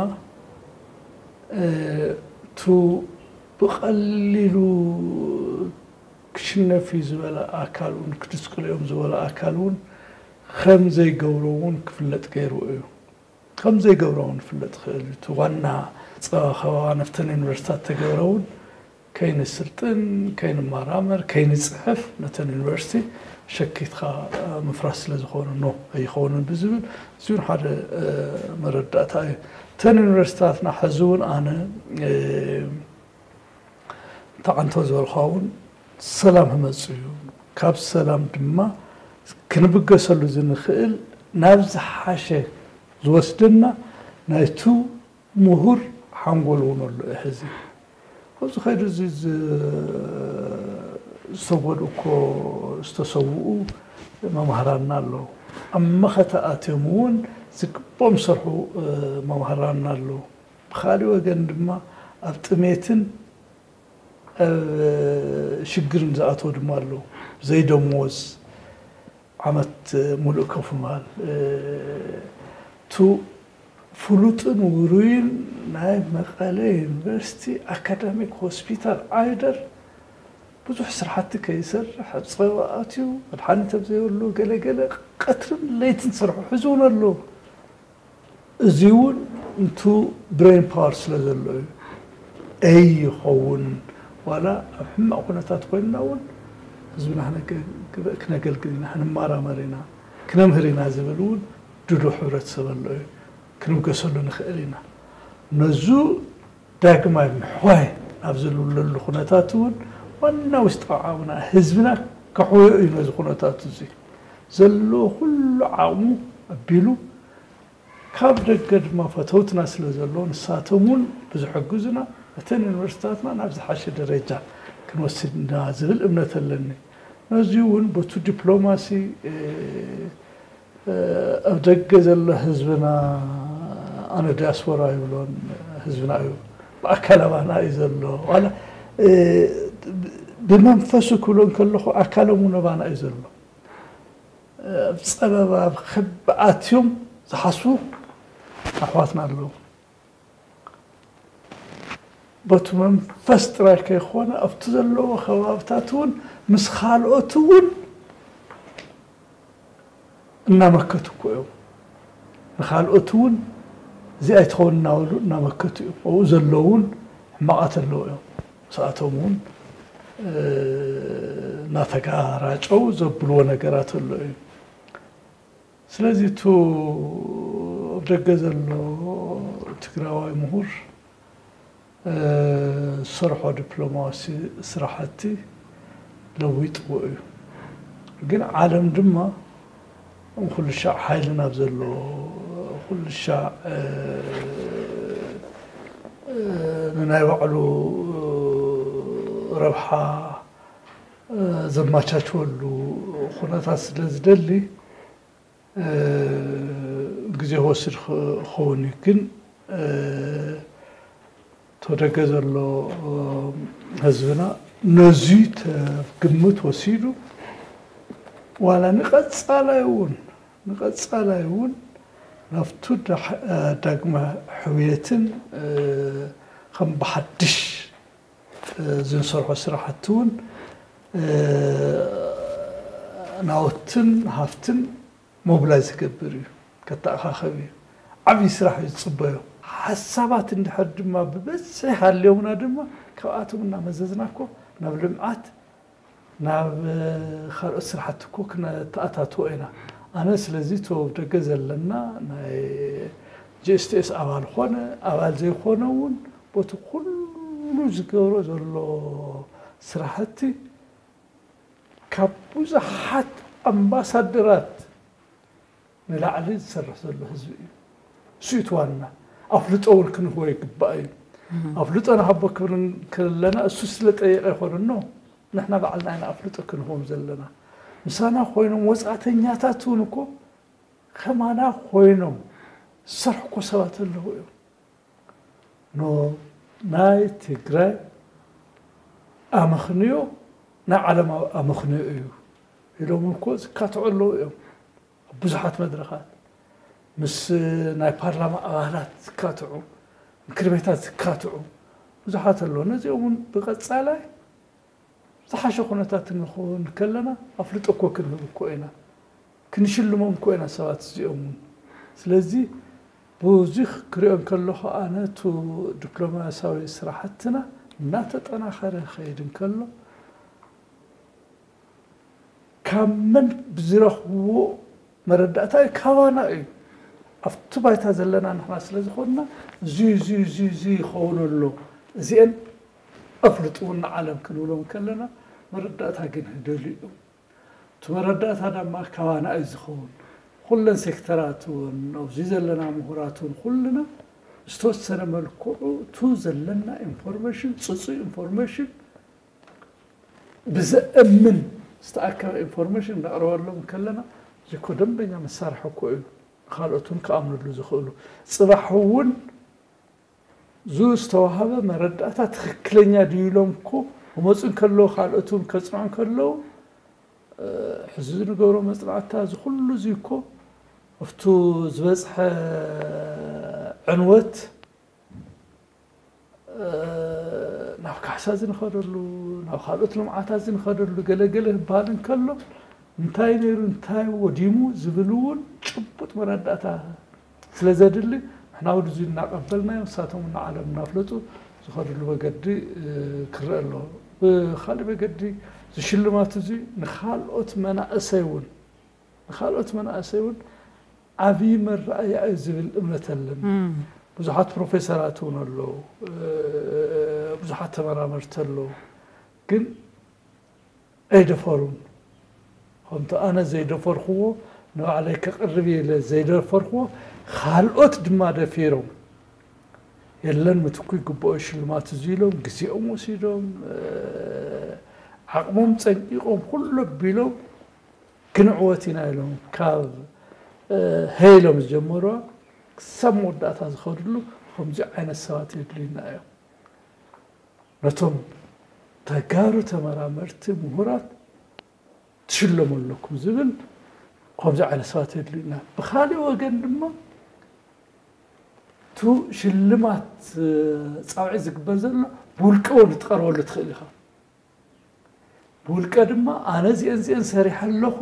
እቱ ብቐሊሉ ክሽነፍ እዩ ዝበለ ኣካል እውን፣ ክድስቅልኦም ዝበለ ኣካል እውን ከም ዘይገብሮ እውን ክፍለጥ ገይሩ እዩ። ከም ዘይገብሮ እውን ክፍለጥ ይኽእል እዩ። እቲ ዋና ፀባ ከባባ ነፍተን ዩኒቨርሲታት ተገብረ እውን ከይንስልጥን፣ ከይንመራመር፣ ከይንፅሕፍ ነተን ዩኒቨርሲቲ ሸኪትካ ምፍራስ ስለ ዝኾነ ኖ ኣይኸውንን ብዝብል፣ እዚ እውን ሓደ መረዳእታ እዩ። እተን ዩኒቨርሲታትና ሕዚ እውን ኣነ ተዓንቶ ዝበልካ እውን ሰላም ክመፅእ እዩ። ካብ ሰላም ድማ ክንብገሰሉ ዝንኽእል ናብ ዝሓሸ ዝወስደና ናይቱ ምሁር ሓንጎል እውን ኣሎ እዩ ሕዚ። ኣብዚ ከይዱ እዚ ዝተጎድኡ እኮ ዝተሰውኡ መማህራንና ኣለዉ። ኣብ መኸተ ኣትዮም እውን ዝግብኦም ዝሰርሑ መማህራንና ኣለዉ። ብኻሊእ ወገን ድማ ኣብ ጥሜትን ኣብ ሽግርን ዝኣተዉ ድማ ኣለዉ። ዘይደሞዝ ዓመት ሙሉእ ከፍ ምባል፣ ቱ ፍሉጥን ውሩይን ናይ መቐለ ዩኒቨርሲቲ ኣካዳሚክ ሆስፒታል ዓይደር ብዙሕ ስራሕቲ ከይሰርሕ ኣብ ፀበባ ኣትዩ፣ መድሓኒት ኣብ ዘይብሉ ገለገለ ቀትርን ለይትን ዝሰርሑ ሕዚ እውን ኣለዉ። እዚ እውን እንቱ ብሬን ፓወር ስለ ዘሎ እዩ። ኣይ ይኸውን ዋላ ኣብ ሕማቕ ኩነታት ኮይንና እውን ህዝብና ክነገልግል ኢና፣ ክንመራመር ኢና፣ ክነምህር ኢና ዝብል እውን ድሉ ሕብረተሰብ ኣሎ እዩ። ክንብገሰሉ ንኽእል ኢና። ነዙ ዳግማይ ምሕዋይ ኣብ ዘለሉ ኩነታት እውን ዋና ውሽጣዊ ዓቕምና ህዝብና ከሕወዮ እዩ። ነዚ ኩነታት እዚ ዘለዎ ኩሉ ዓቕሙ ኣቢሉ ካብ ደገ ድማ ፈተውትና ስለ ዘለዉ ንሳቶም እውን ብዝሕግዙና እተን ዩኒቨርሲታትና ናብ ዝሓሸ ደረጃ ክንወስድ ኢና ዝብል እምነት ኣለኒ። ነዚ እውን በቱ ዲፕሎማሲ ኣብ ደገ ዘሎ ህዝብና፣ ኣነ ዲያስፖራ ይብሎን ህዝብና እዩ፣ ብኣካል ኣባና እዩ ዘሎ። ዋላ ብመንፈሱ ክብሎ እንከለኹ ኣካሎም እውን ኣባና እዩ ዘሎ። ኣብ ፀበባ ኣብ ክቢ ኣትዮም ዝሓስቡ ኣሕዋትና ኣለዉ። በቱ መንፈስ ጥራይ ከይኮነ ኣብቲ ዘለዎ ከባብታት እውን ምስ ካልኦት እውን እናመከቱ እኮ እዮም። ንኻልኦት እውን እዚኣ ኣይትኸውን እናበሉ እናመከቱ እዮም። ኣብኡ ዘለዉ እውን ሕማቓት ኣለዉ እዮም። ምስኣቶም እውን እናተጋራጨው ዘብልዎ ነገራት ኣሎ እዩ። ስለዚ እቱ ኣብ ደገ ዘሎ ትግራዋይ ምሁር ዝሰርሖ ዲፕሎማሲ ስራሕቲ ለዊጥዎ እዩ። ግን ዓለም ድማ ኩሉ ሻዕ ሓይሊ ናብ ዘለዎ፣ ኩሉ ሻዕ ንናይ ባዕሉ ረብሓ ዘማቻችወሉ ኩነታት ስለ ዝደሊ ግዜ ክወስድ ክኸውን እዩ። ግን ተደገ ዘሎ ህዝብና ነዚ ግምት ወሲዱ ዋላ ንቐጻላይ እውን ንቐጻላይ እውን ናብቱ ዳግመ ሕውየትን ከም ብሓድሽ ዝንሰርሖ ስራሕቲ እውን ናወትን ሃፍትን ሞብላይዝ ክገብር እዩ፣ ከተኣኻኸብ እዩ። ዓብዪ ስራሕ እዩ ዝፅበዮ። ሓሳባት እንድሕር ድማ ብበዝሒ ሃልዮምና ድማ ካብኣቶም እናመዘዝና እኮ ናብ ልምዓት ናብ ካልኦት ስራሕቲ እኮ ክነተኣታትዎ ኢና። ኣነ ስለዚ እቲ ኣብ ደገ ዘለና ናይ ጂ ኤስ ቲ ኤስ ኣባል ኾነ ኣባል ዘይኾነ እውን በቲ ኩሉ ዝገብሮ ዘሎ ስራሕቲ ካብ ብዙሓት ኣምባሳደራት ንላዕሊ ዝሰርሕ ዘሎ ህዝቢ እዩ። እሱ እዩ እቲ ዋና። ኣፍልጦ እውን ክንህቦ ይግባእ እዩ። ኣፍልጦ ንሃቦ ክብል ከለና እሱ ስለ ጠየቀ ኣይኮነን። ንሕና ባዕልና ኢና ኣፍልጦ ክንህቦም ዘለና። ምሳና ኮይኖም ወፃእተኛታት እውን እኮ ከማና ኮይኖም ዝሰርሑ እኮ ሰባት ኣለዉ እዮም። ኖ ናይ ትግራይ ኣመኽንዮ ናይ ዓለማዊ ኣመኽንዮ እዩ ኢሎም እኮ ዝካትዑ ኣለዉ እዮም። ኣብ ብዙሓት መድረኻት ምስ ናይ ፓርላማ ኣባላት ዝካትዑ፣ ምክር ቤታት ዝካትዑ ብዙሓት ኣለዉ። ነዚኦም እውን ብቐጻላይ ዝሓሸ ኩነታት እንኸውን ከለና ኣፍልጦ እኮ ክንህብ እኮ ኢና፣ ክንሽልሞም እኮ ኢና ሰባት እዚኦም እውን። ስለዚ ብዙሕ ክሪኦ እንከለኹ ኣነ እቲ ዲፕሎማሲያዊ ስራሕትና እናተጠናኸረ ክኸይድ እንከሎ ካብ መን ብዝረኽብዎ መረዳእታ እዩ፣ ካባና እዩ። ኣብቲ ባይታ ዘለና ንሕና ስለ ዝኾንና እዚ እዚ እዚ እዚ ይኸውን ኣሎ፣ እዚአን ኣፍልጥውን ንዓለም ክንብሎም ከለና መረዳእታ ግን ህደሉ እዮም። እቲ መረዳእታ ድማ ካባና እዩ ዝኸውን። ኩለን ሴክተራት እውን ኣብዚ ዘለና ምሁራት እውን ኩልና ዝተወሰነ መልክዑ እቱ ዘለና ኢንፎርሜሽን ፅፁይ ኢንፎርሜሽን ብዘእምን ዝተኣከበ ኢንፎርሜሽን ነቕርበሎም ከለና እዚ እኮ ደንበኛ መሳርሒ እኮ እዩ። ካልኦት እውን ክኣምንሉ ዝኽእሉ ፅባሕ እውን ዙ ዝተዋሃበ መረዳእታ ትኽክለኛ ድዩ ኢሎም እኮ ክመፁ እንከለዉ ካልኦት እውን ከፅንዑ እንከለዉ ሕዚ ንገብሮ መፅናዕታ እዚ ኩሉ እዚ እኮ ኣብቱ ዝበፅሐ ዕንወት ናብ ካሕሳ ዝንኸደሉ ናብ ካልኦት ልምዓታት ዝንኸደሉ ገለገለ ህበሃል እንከሎ እንታይ ነይሩ እንታይ ወዲሙ ዝብል እውን ጭቡጥ መረዳእታ ስለ ዘድሊ ንሕና ወድዙ እናቐበልናዮ ንሳቶም እናዓለም እናፍለጡ ዝኸድሉ መገዲ ክረአ ኣሎ። ብካሊእ መገዲ ዝሽልማት እዚ ንካልኦት መናእሰይ እውን ንካልኦት መናእሰይ እውን ዓብዪ መረኣያ እዩ ዝብል እምነት ኣለን። ብዙሓት ፕሮፌሰራት እውን ኣለዉ፣ ብዙሓት ተመራመርቲ ኣለዉ፣ ግን ኣይደፈሩን። ከምቲ ኣነ ዘይደፈርክዎ ንባዕለይ ከቕርብ ኢለ ዘይደፈርክዎ ካልኦት ድማ ደፊሮም የለን ምትኩ ይግብኦ ሽልማት እዚ ኢሎም ግዜኦም ወሲዶም ዓቕሞም ፀንቂቖም ኩሉ ኣቢሎም ክንዕወት ኢና ኢሎም ካብ ሀይሎም ዝጀመሩዋ ክሳብ መወዳእታ ዝኸድሉ ከምዚ ዓይነት ሰባት የድልዩና እዮም። ነቶም ተጋሩ ተመራመርቲ ምሁራት ትሽለሙ ኣለኩም ዝብል ከምዚ ዓይነት ሰባት የድልዩና። ብካሊእ ወገን ድማ ቱ ሽልማት ፃውዒት ዝግበር ዘሎ ብውልቀ እውን ትቐርበሉ ትኽእል ኢኻ። ብውልቀ ድማ ኣነ እዚአን እዚአን ሰሪሐ ኣለኹ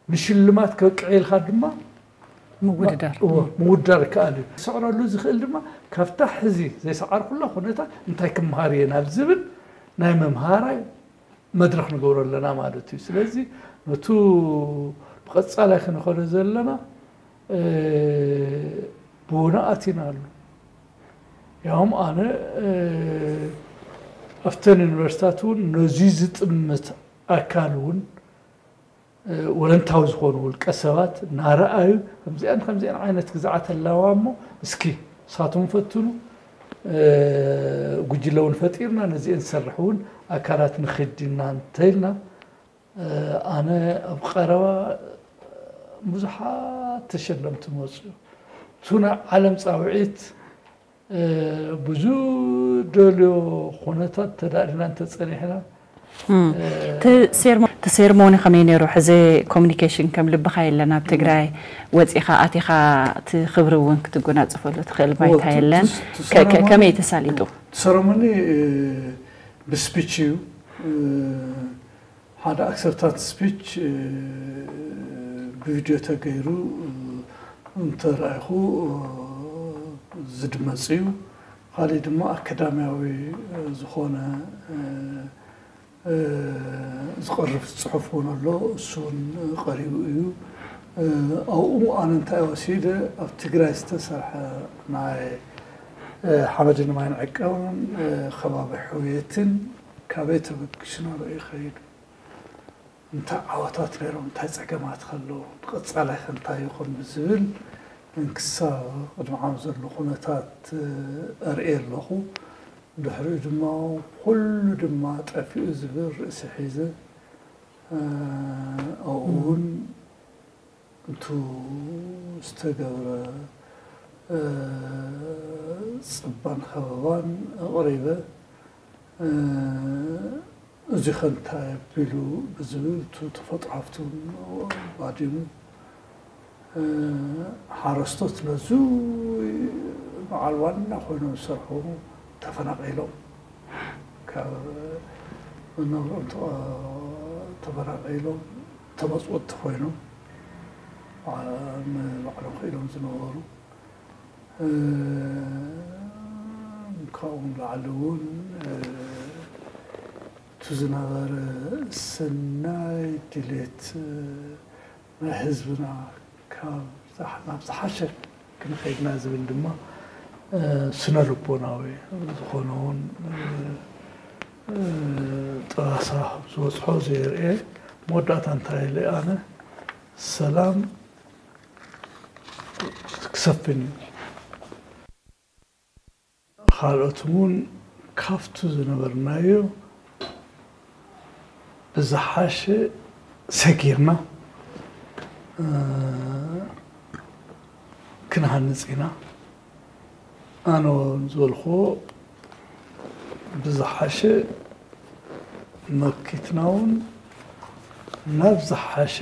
ንሽልማት ከብቅዕ ኢልካ ድማ ምውድዳር እዎ ምውዳር ይከኣል እዩ። ዝስዕረሉ ዝኽእል ድማ ካብታ ሕዚ ዘይሰዓርኩላ ኩነታት እንታይ ክምሃር እየ ናብ ዝብል ናይ መምሃራይ መድረኽ ንገብሮ ኣለና ማለት እዩ። ስለዚ ነቱ ብቐፃላይ ክንኸዶ ዘለና ብውነ ኣቲና ኣሎ። ያውም ኣነ ኣብተን ዩኒቨርሲታት እውን ነዚ ዝጥምት ኣካል እውን ወለንታዊ ዝኾኑ ውልቀ ሰባት እናረኣዩ ከምዚኣን ከምዚኣን ዓይነት ግዝዓት ኣለዋ እሞ እስኪ ንሳቶም ፈትኑ ጉጅለ እውን ፈጢርና ነዚአን ዝሰርሕ እውን ኣካላት ንኽድ ኢና እንተኢልና ኣነ ኣብ ቀረባ ብዙሓት ተሸለምቲ መፅኡ እቱ ናይ ዓለም ፃውዒት ብዙ ደልዮ ኩነታት ተዳሊና እንተጸኒሕና እቲ ሴርሞኒ ከመይ ነይሩ? ሕዚ ኮሚኒኬሽን ከም ልብኻ የለን። ኣብ ትግራይ ወፂኻ ኣቲኻ እቲ ክብሪ እውን ክትጎናፅፈሉ ትኽእል ባይታ የለን። ከመይ ተሳሊጡ? ሰረሞኒ ብስፒች እዩ። ሓደ ኣክሰፕታንስ ስፒች ብቪድዮ ተገይሩ እንተረኣይኹ ዝድመፅ እዩ። ካሊእ ድማ ኣካዳሚያዊ ዝኾነ ዝቐርብ ፅሑፍ እውን ኣሎ። እሱ እውን ቀሪቡ እዩ። ኣብኡ ኣነ እንታይ ወሲደ ኣብ ትግራይ ዝተሰርሐ ናይ ሓመድን ማይን ዕቀባን ከባቢ ሕውየትን ካበይ ተበግሱ ናበይ ይኸይዱ፣ እንታይ ዓወታት ነይሮም፣ እንታይ ፀገማት ከለዉ፣ ብቐፃላይ ከ እንታይ ይኹን ብዝብል እንክሳ ቅድሚ ዓም ዘሎ ኩነታት ኣርእየ ኣለኹ። ድሕሪኡ ድማ ኩሉ ድማ ጠፊኡ ዝብል ርእሲ ሒዘ ኣብኡ እውን እቱ ዝተገብረ ፅባን ከበባን ኣቕሪበ እዚ ከ እንታይ ኣቢሉ ብዝብል እቱ ተፈጥሮ ሃፍቲ እውን ባዲሙ ሓረስቶት ነዙ በዓል ዋና ኮይኖም ዝሰርሑ ተፈናቒሎም ካብ መነብሮም ተፈናቒሎም ተመፅወቲ ኮይኖም ንባዕሎም ክኢሎም ዝነበሩ ካብኡ ንላዕሊ እውን እቲ ዝነበረ ሰናይ ድሌት ናይ ህዝብና ካብ ናብ ዝሓሸ ክንኸይድና ዝብል ድማ ስነ ልቦናዊ ዝኾነ እውን ጠባሳ ዝወፅሖ ዘየርኤ መወዳእታ እንታይ ኢለ ኣነ ሰላም ክሰፍን እዩ። ካልኦት እውን ካብቱ ዝነበርናዮ ብዝሓሸ ሰጊርና ክንሃንፅ ኢና። ኣነ ዝበልክዎ ብዝሓሸ መኪትና እውን ናብ ዝሓሸ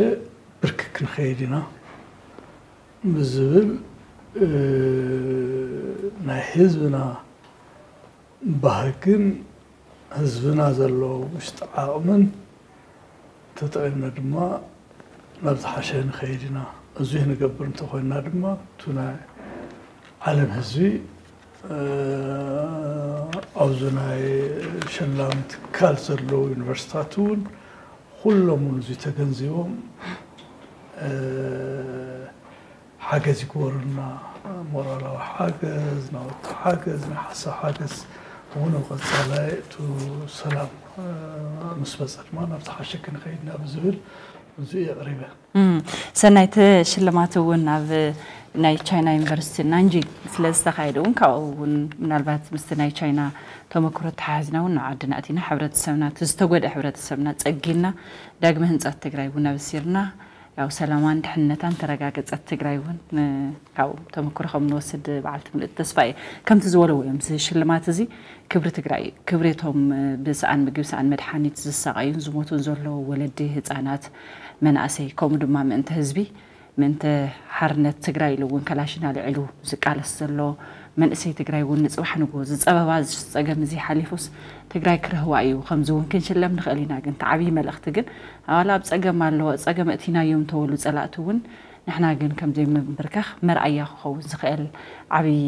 ብርኪ ክንኸይድ ኢና ብዝብል ናይ ህዝብና ባህግን ህዝብና ዘለዎ ውሽጢ ዓቕምን ተጠቒምና ድማ ናብ ዝሓሸ ንኸይድ ኢና። እዙይ ንገብር እንተኾይንና ድማ እቱ ናይ ዓለም ህዝቢ ኣብዚ ናይ ሸላሚ ትካል ዘለዉ ዩኒቨርሲታት እውን ኩሎም እውን እዙይ ተገንዚቦም ሓገዝ ይግበሩልና። ሞራላዊ ሓገዝ፣ ናውቲ ሓገዝ፣ ናይ ሓሳብ ሓገዝ እውን ኣብ ቀፃላይ እቱ ሰላም ምስ መፀ ድማ ናብ ዝሓሸ ክንኸይድ ኢና ብዝብል እዙ የቕሪበ። ሰናይ እቲ ሽልማት እውን ኣብ ናይ ቻይና ዩኒቨርሲቲ ናንጂንግ ስለ ዝተኻየደ እውን ካብኡ እውን ምናልባት ምስቲ ናይ ቻይና ተመክሮ ተሓሕዝና እውን ናብ ዓድና ኣቲና ሕብረተሰብና እቲ ዝተጎድአ ሕብረተሰብና ፀጊንና ዳግመ ህንፀት ትግራይ እውን ኣበሲርና ያው ሰላማን ድሕነታን ተረጋገፀት ትግራይ እውን ካብኡ ተመክሮ ከም ንወስድ በዓልቲ ምልእቲ ተስፋ እየ። ከምቲ ዝበለዎ እዮም እዚ ሽልማት እዚ ክብሪ ትግራይ እዩ። ክብሪ እቶም ብሰኣን ምግቢ ሰኣን መድሓኒት ዝሳቐዩን ዝሞቱን ዘለዉ ወለዲ ህፃናት መናእሰይ ከምኡ ድማ ምእንቲ ህዝቢ ምእንቲ ሓርነት ትግራይ ኢሉ እውን ከላሽን ኣልዒሉ ዝቃለስ ዘሎ መንእሰይ ትግራይ እውን ንፅባሕ ንግሆ ዝፀበባ እዚ ፀገም እዚ ሓሊፉስ ትግራይ ክረህዋ እዩ። ከምዚ እውን ክንሽለም ንኽእል ኢና ግን እቲ ዓብዪ መልእኽቲ ግን ኣባላ ኣብ ፀገም ኣለዎ ፀገም እቲናዮም ተበሉ ፀላእቲ እውን ንሕና ግን ከምዘይምንብርከኽ መርኣያ ክኸውን ዝኽእል ዓብዪ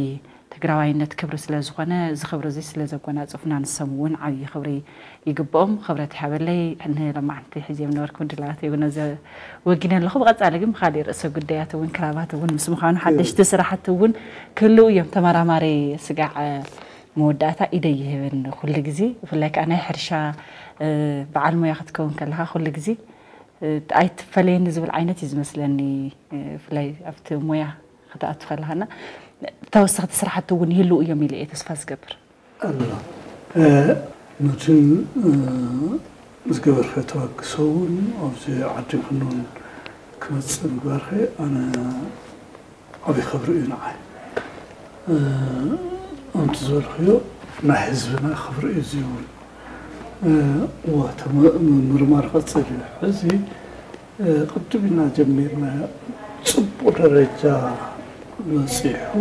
ትግራዋይነት ክብሪ ስለ ዝኾነ እዚ ክብሪ እዚ ስለ ዘጎናፅፉና ንሶም እውን ዓብዪ ክብሪ ይግብኦም። ክብረት ይሃበለይ። ንሎማዓንቲ ሒዝዮም ነበርኩ ድላዋት እውን ዘ ወጊነ ኣለኹ። ብቐፃሊ ግን ብካሊእ ርእሰ ጉዳያት እውን ክራባት እውን ምስ ምዃኑ ሓደሽቲ ስራሕቲ እውን ክህልው እዮም። ተመራማሪ ስጋዕ መወዳእታ ኢደይ ይህብን ኩሉ ግዜ ብፍላይ ከዓ ናይ ሕርሻ በዓል ሞያ ክትከውን ከለካ ኩሉ ግዜ ኣይትፈለየኒ ዝብል ዓይነት እዩ ዝመስለኒ። ብፍላይ ኣብቲ ሞያ ክትኣቱ ከለካና ተወሰኽቲ ስራሕቲ እውን ይህልው እዮም ኢለ እየ ተስፋ ዝገብር። ኣላ ነቲ ዝገበርካዮ ተበግሶ እውን ኣብዚ ዓዲ ክንውን ክመፅእ ምግባርኸ ኣነ ዓብዪ ክብሪ እዩ ንዓይ። ከምቲ ዝበልክዮ ናይ ህዝብና ክብሪ እዩ ዝውን። እዋ ምርማር ቀፅል እዩ። ሕዚ ቅድም ኢና ጀሚርና፣ ፅቡቅ ደረጃ በፂሑ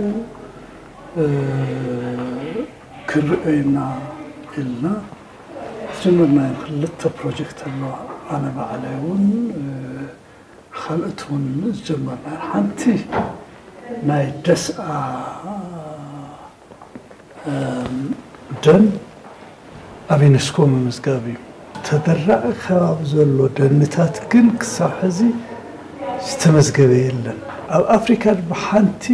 ክንርእዮ ኢና ኢልና ዝጀመርናዮ ክልተ ፕሮጀክት ኣለዋ። ኣነ ባዕለይ እውን ካልኦት እውን ዝጀመርና። ሓንቲ ናይ ደስኣ ደን ኣብ ዩኔስኮ ምምዝጋብ እዩ። ተደራቒ ከባቢ ዘሎ ደንታት ግን ክሳብ ሕዚ ዝተመዝገበ የለን። ኣብ ኣፍሪካ ድማ ሓንቲ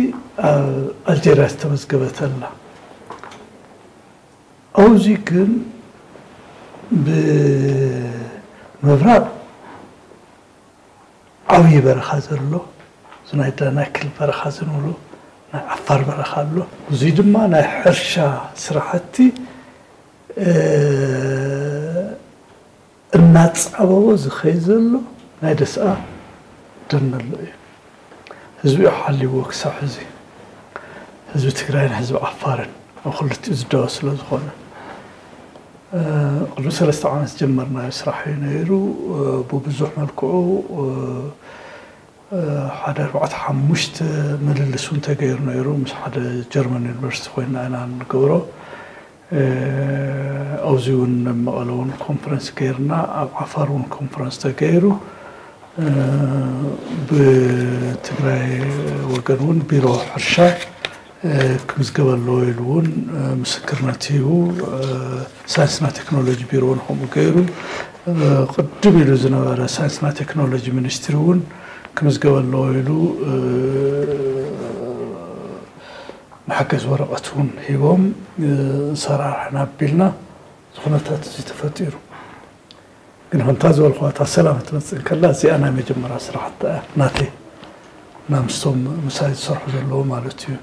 ኣብ ኣልጀርያ ዝተመዝገበት ኣላ። ኣብዚ ግን ብምብራቕ ዓብዪ በረኻ ዘሎ፣ እዚ ናይ ዳናክል በረኻ ዝንብሎ፣ ናይ ዓፋር በረኻ ኣሎ። እዙይ ድማ ናይ ሕርሻ ስራሕቲ እናፃበቦ ዝኸይ ዘሎ ናይ ደስኣ ደን ኣሎ እዩ። ህዝቢ ሓልይዎ ክሳብ ሕዚ፣ ህዝቢ ትግራይን ህዝቢ ዓፋርን ኣብ ክልቲኡ ዝዳወ ስለ ዝኾነ፣ ቅድሚ ሰለስተ ዓመት ዝጀመርናዮ ስራሕ እዩ ነይሩ። ብብዙሕ መልክዑ ሓደ ኣርባዕተ ሓሙሽተ ምልልስ እውን ተገይሩ ነይሩ። ምስ ሓደ ጀርመን ዩኒቨርሲቲ ኮይና ኢና ንገብሮ። ኣብዚ እውን ኣብ መቐለ እውን ኮንፈረንስ ገይርና፣ ኣብ ዓፋር እውን ኮንፈረንስ ተገይሩ። ብትግራይ ወገን እውን ቢሮ ሕርሻ ክምዝገብ ኣለዎ ኢሉ እውን ምስክርነት ሂቡ። ሳይንስና ቴክኖሎጂ ቢሮ እውን ከምኡ ገይሩ። ቅድም ኢሉ ዝነበረ ሳይንስና ቴክኖሎጂ ሚኒስትሪ እውን ክምዝገብ ኣለዎ ኢሉ መሐገዝ ወረቐት እውን ሂቦም ሰራርሕና ኣቢልና። እዚ ኩነታት እዚ ተፈጢሩ። ግን ከምታ ዝበልኳ እታ ሰላም ክትመፅእ እንከላ እዚኣ ናይ መጀመርያ ስራሕቲ እያ ናተይ፣ እና ምስቶም ምሳይ ዝሰርሑ ዘለዉ ማለት እዩ።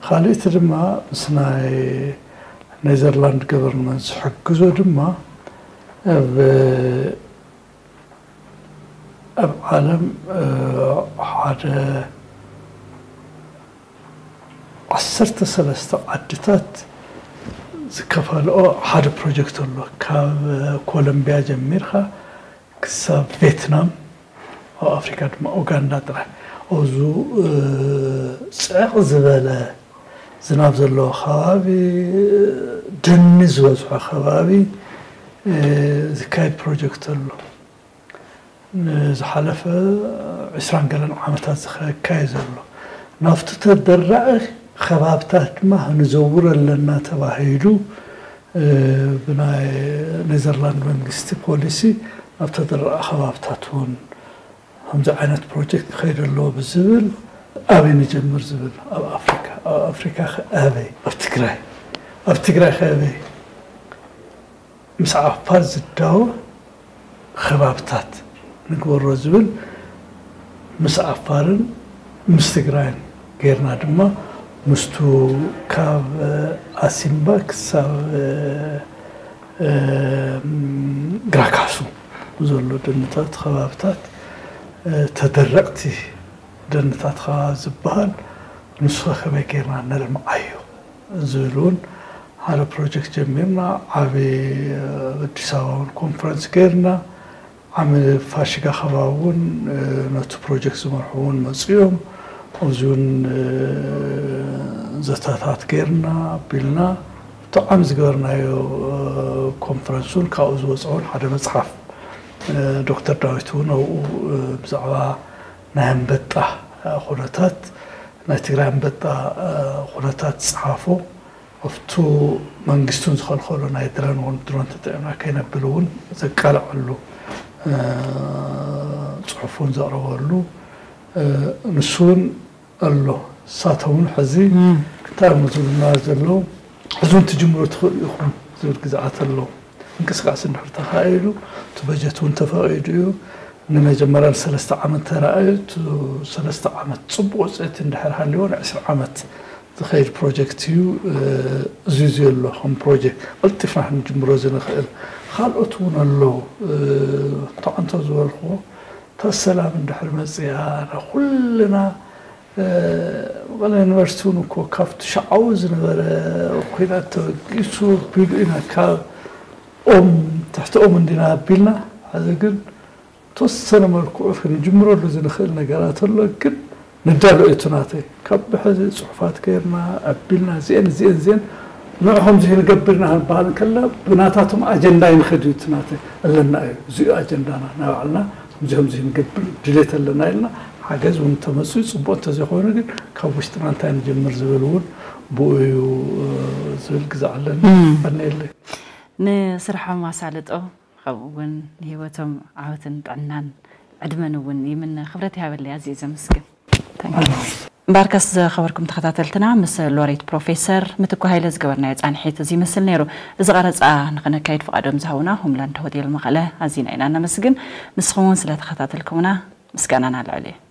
ካልእቲ ድማ ምስ ናይ ኔዘርላንድ ገቨርንመንት ዝሕግዞ ድማ ኣብ ኣብ ዓለም ሓደ ዓሰርተ ሰለስተ ዓድታት ዝከፋልኦ ሓደ ፕሮጀክት ኣሎ። ካብ ኮሎምቢያ ጀሚርካ ክሳብ ቬትናም፣ ኣብ ኣፍሪካ ድማ ኡጋንዳ ጥራሕ። ኣብዙ ፅዕቕ ዝበለ ዝናብ ዘለዎ ከባቢ፣ ደኒ ዝበዝሖ ከባቢ ዝካየድ ፕሮጀክት ኣሎ። ንዝሓለፈ ዕስራን ገለን ዓመታት ዝካየድ ዘሎ ናብቲ ተደራዒ ከባብታት ድማ ክንዘውር ኣለና ተባሂሉ ብናይ ኔዘርላንድ መንግስቲ ፖሊሲ ናብ ተደራዒ ከባብታት እውን ከምዚ ዓይነት ፕሮጀክት ክኸይድ ኣለዎ ብዝብል ኣበይ ንጀምር ዝብል ኣብ ኣፍሪካ ኣብ ኣፍሪካ ኣበይ ኣብ ትግራይ ኣብ ትግራይ ከበይ ምስ ዓፋር ዝዳወ ከባብታት ንግበሮ ዝብል ምስ ዓፋርን ምስ ትግራይን ጌርና ድማ ምስቱ ካብ ኣሲምባ ክሳብ ግራካሱ ዘሎ ደንታት ከባብታት ተደረቕቲ ደንታት ከባቢ ዝበሃል ንሱ ከመይ ጌርና ነልምዓዮ ዝብል እውን ሓደ ፕሮጀክት ጀሚርና። ዓብዪ ኣዲስ ኣበባ እውን ኮንፈረንስ ጌርና። ዓሚ ፋሽጋ ከባቢ እውን ነቲ ፕሮጀክት ዝመርሑ እውን መፅኦም ኣብዚ እውን ዘተታት ጌርና ኣቢልና። እቲ ዓሚ ዝገበርናዮ ኮንፈረንስ እውን ካብኡ ዝወፀ እውን ሓደ መፅሓፍ ዶክተር ዳዊት እውን ኣብኡ ብዛዕባ ናይ ኣንበጣ ኩነታት ናይ ትግራይ ኣንበጣ ኩነታት ዝፀሓፎ ኣብቱ መንግስቱን ዝኸልከሎ ናይ ድረን እውን ድሮን ተጠቂምና ከይነብል እውን ዘቃልዐሉ ፅሑፍ እውን ዘቕረበሉ ንሱ እውን ኣሎ። ንሳቶም እውን ሕዚ እንታይ እዮም ዝብሉና ዘለዉ? ሕዚ እውን ትጅምሩ ትኽእሉ ኢኹም ዝብል ግዝኣት ኣሎ። ምንቅስቃስ እንድሕር ተኻኢሉ እቲ በጀት እውን ተፈቒዱ እዩ። ንመጀመርያ ንሰለስተ ዓመት ተራእዩ እቲ ሰለስተ ዓመት ፅቡቅ ውፅኢት እንድሕር ሃልዎ ንዕስራ ዓመት ዝኸይድ ፕሮጀክት እዩ። እዚ እዚ ኣሎ ከም ፕሮጀክት ቀልጢፍና ክንጅምሮ ዝንኽእል ካልኦት እውን ኣለዉ። ተዓንቶ ዝበልክዎ እታ ሰላም እንድሕር መፅያ ኩልና መቐለ ዩኒቨርሲቲ እውን እኮ ካብቲ ሻዓዊ ዝነበረ ኩናት ተበጊሱ ኣቢሉ ኢና ካብ ኦም ትሕቲ ኦም እንዲና ኣቢልና። ሕዚ ግን ተወሰነ መልክዑ ክንጅምረሉ ዝንኽእል ነገራት ኣሎ። ግን ንዳሎ እዩ እቲ ናተይ ካብ ብሕዚ ፅሑፋት ገይርና ኣቢልና እዚአን እዚአን እዚአን ንዕኹም እዚ ንገብር ኢና ክንበሃል እንከለና ብናታቶም ኣጀንዳ ይንኸድ እዩ እቲ ናተይ ኣለና እዩ። እዚኡ ኣጀንዳና ናይ ባዕልና ከምዚ ከምዚ ንገብር ድሌት ኣለና ኢልና ሓገዝ እውን እንተመፅኡ ፅቡቅ እንተዘይኮይኑ ግን ካብ ውሽጥና እንታይ ንጀምር ዝብል እውን ብኡ እዩ ዝብል ግዛዕ ኣለኒ። ቀኒየለይ። ንስርሖም ኣሳልጦ ከምኡ እውን ንህይወቶም ዓወትን ጥዕናን ዕድመን እውን ይምነ። ክብረት ይሃበለይ። ኣዝየ ዘመስግን። እምበኣርከስ ዝኸበርኩም ተኸታተልትና ምስ ሎሬት ፕሮፌሰር ምትኩ ሃይለ ዝገበርናዮ ፃንሒት እዚ ይመስል ነይሩ። እዚ ቀረፃ ንክነካይድ ፍቓዶም ዝሃቡና ሆምላንድ ሆቴል መቐለ ኣዚና ኢና ነመስግን። ንስኹም እውን ስለተኸታተልኩምና ምስጋናና ልዕል እዩ።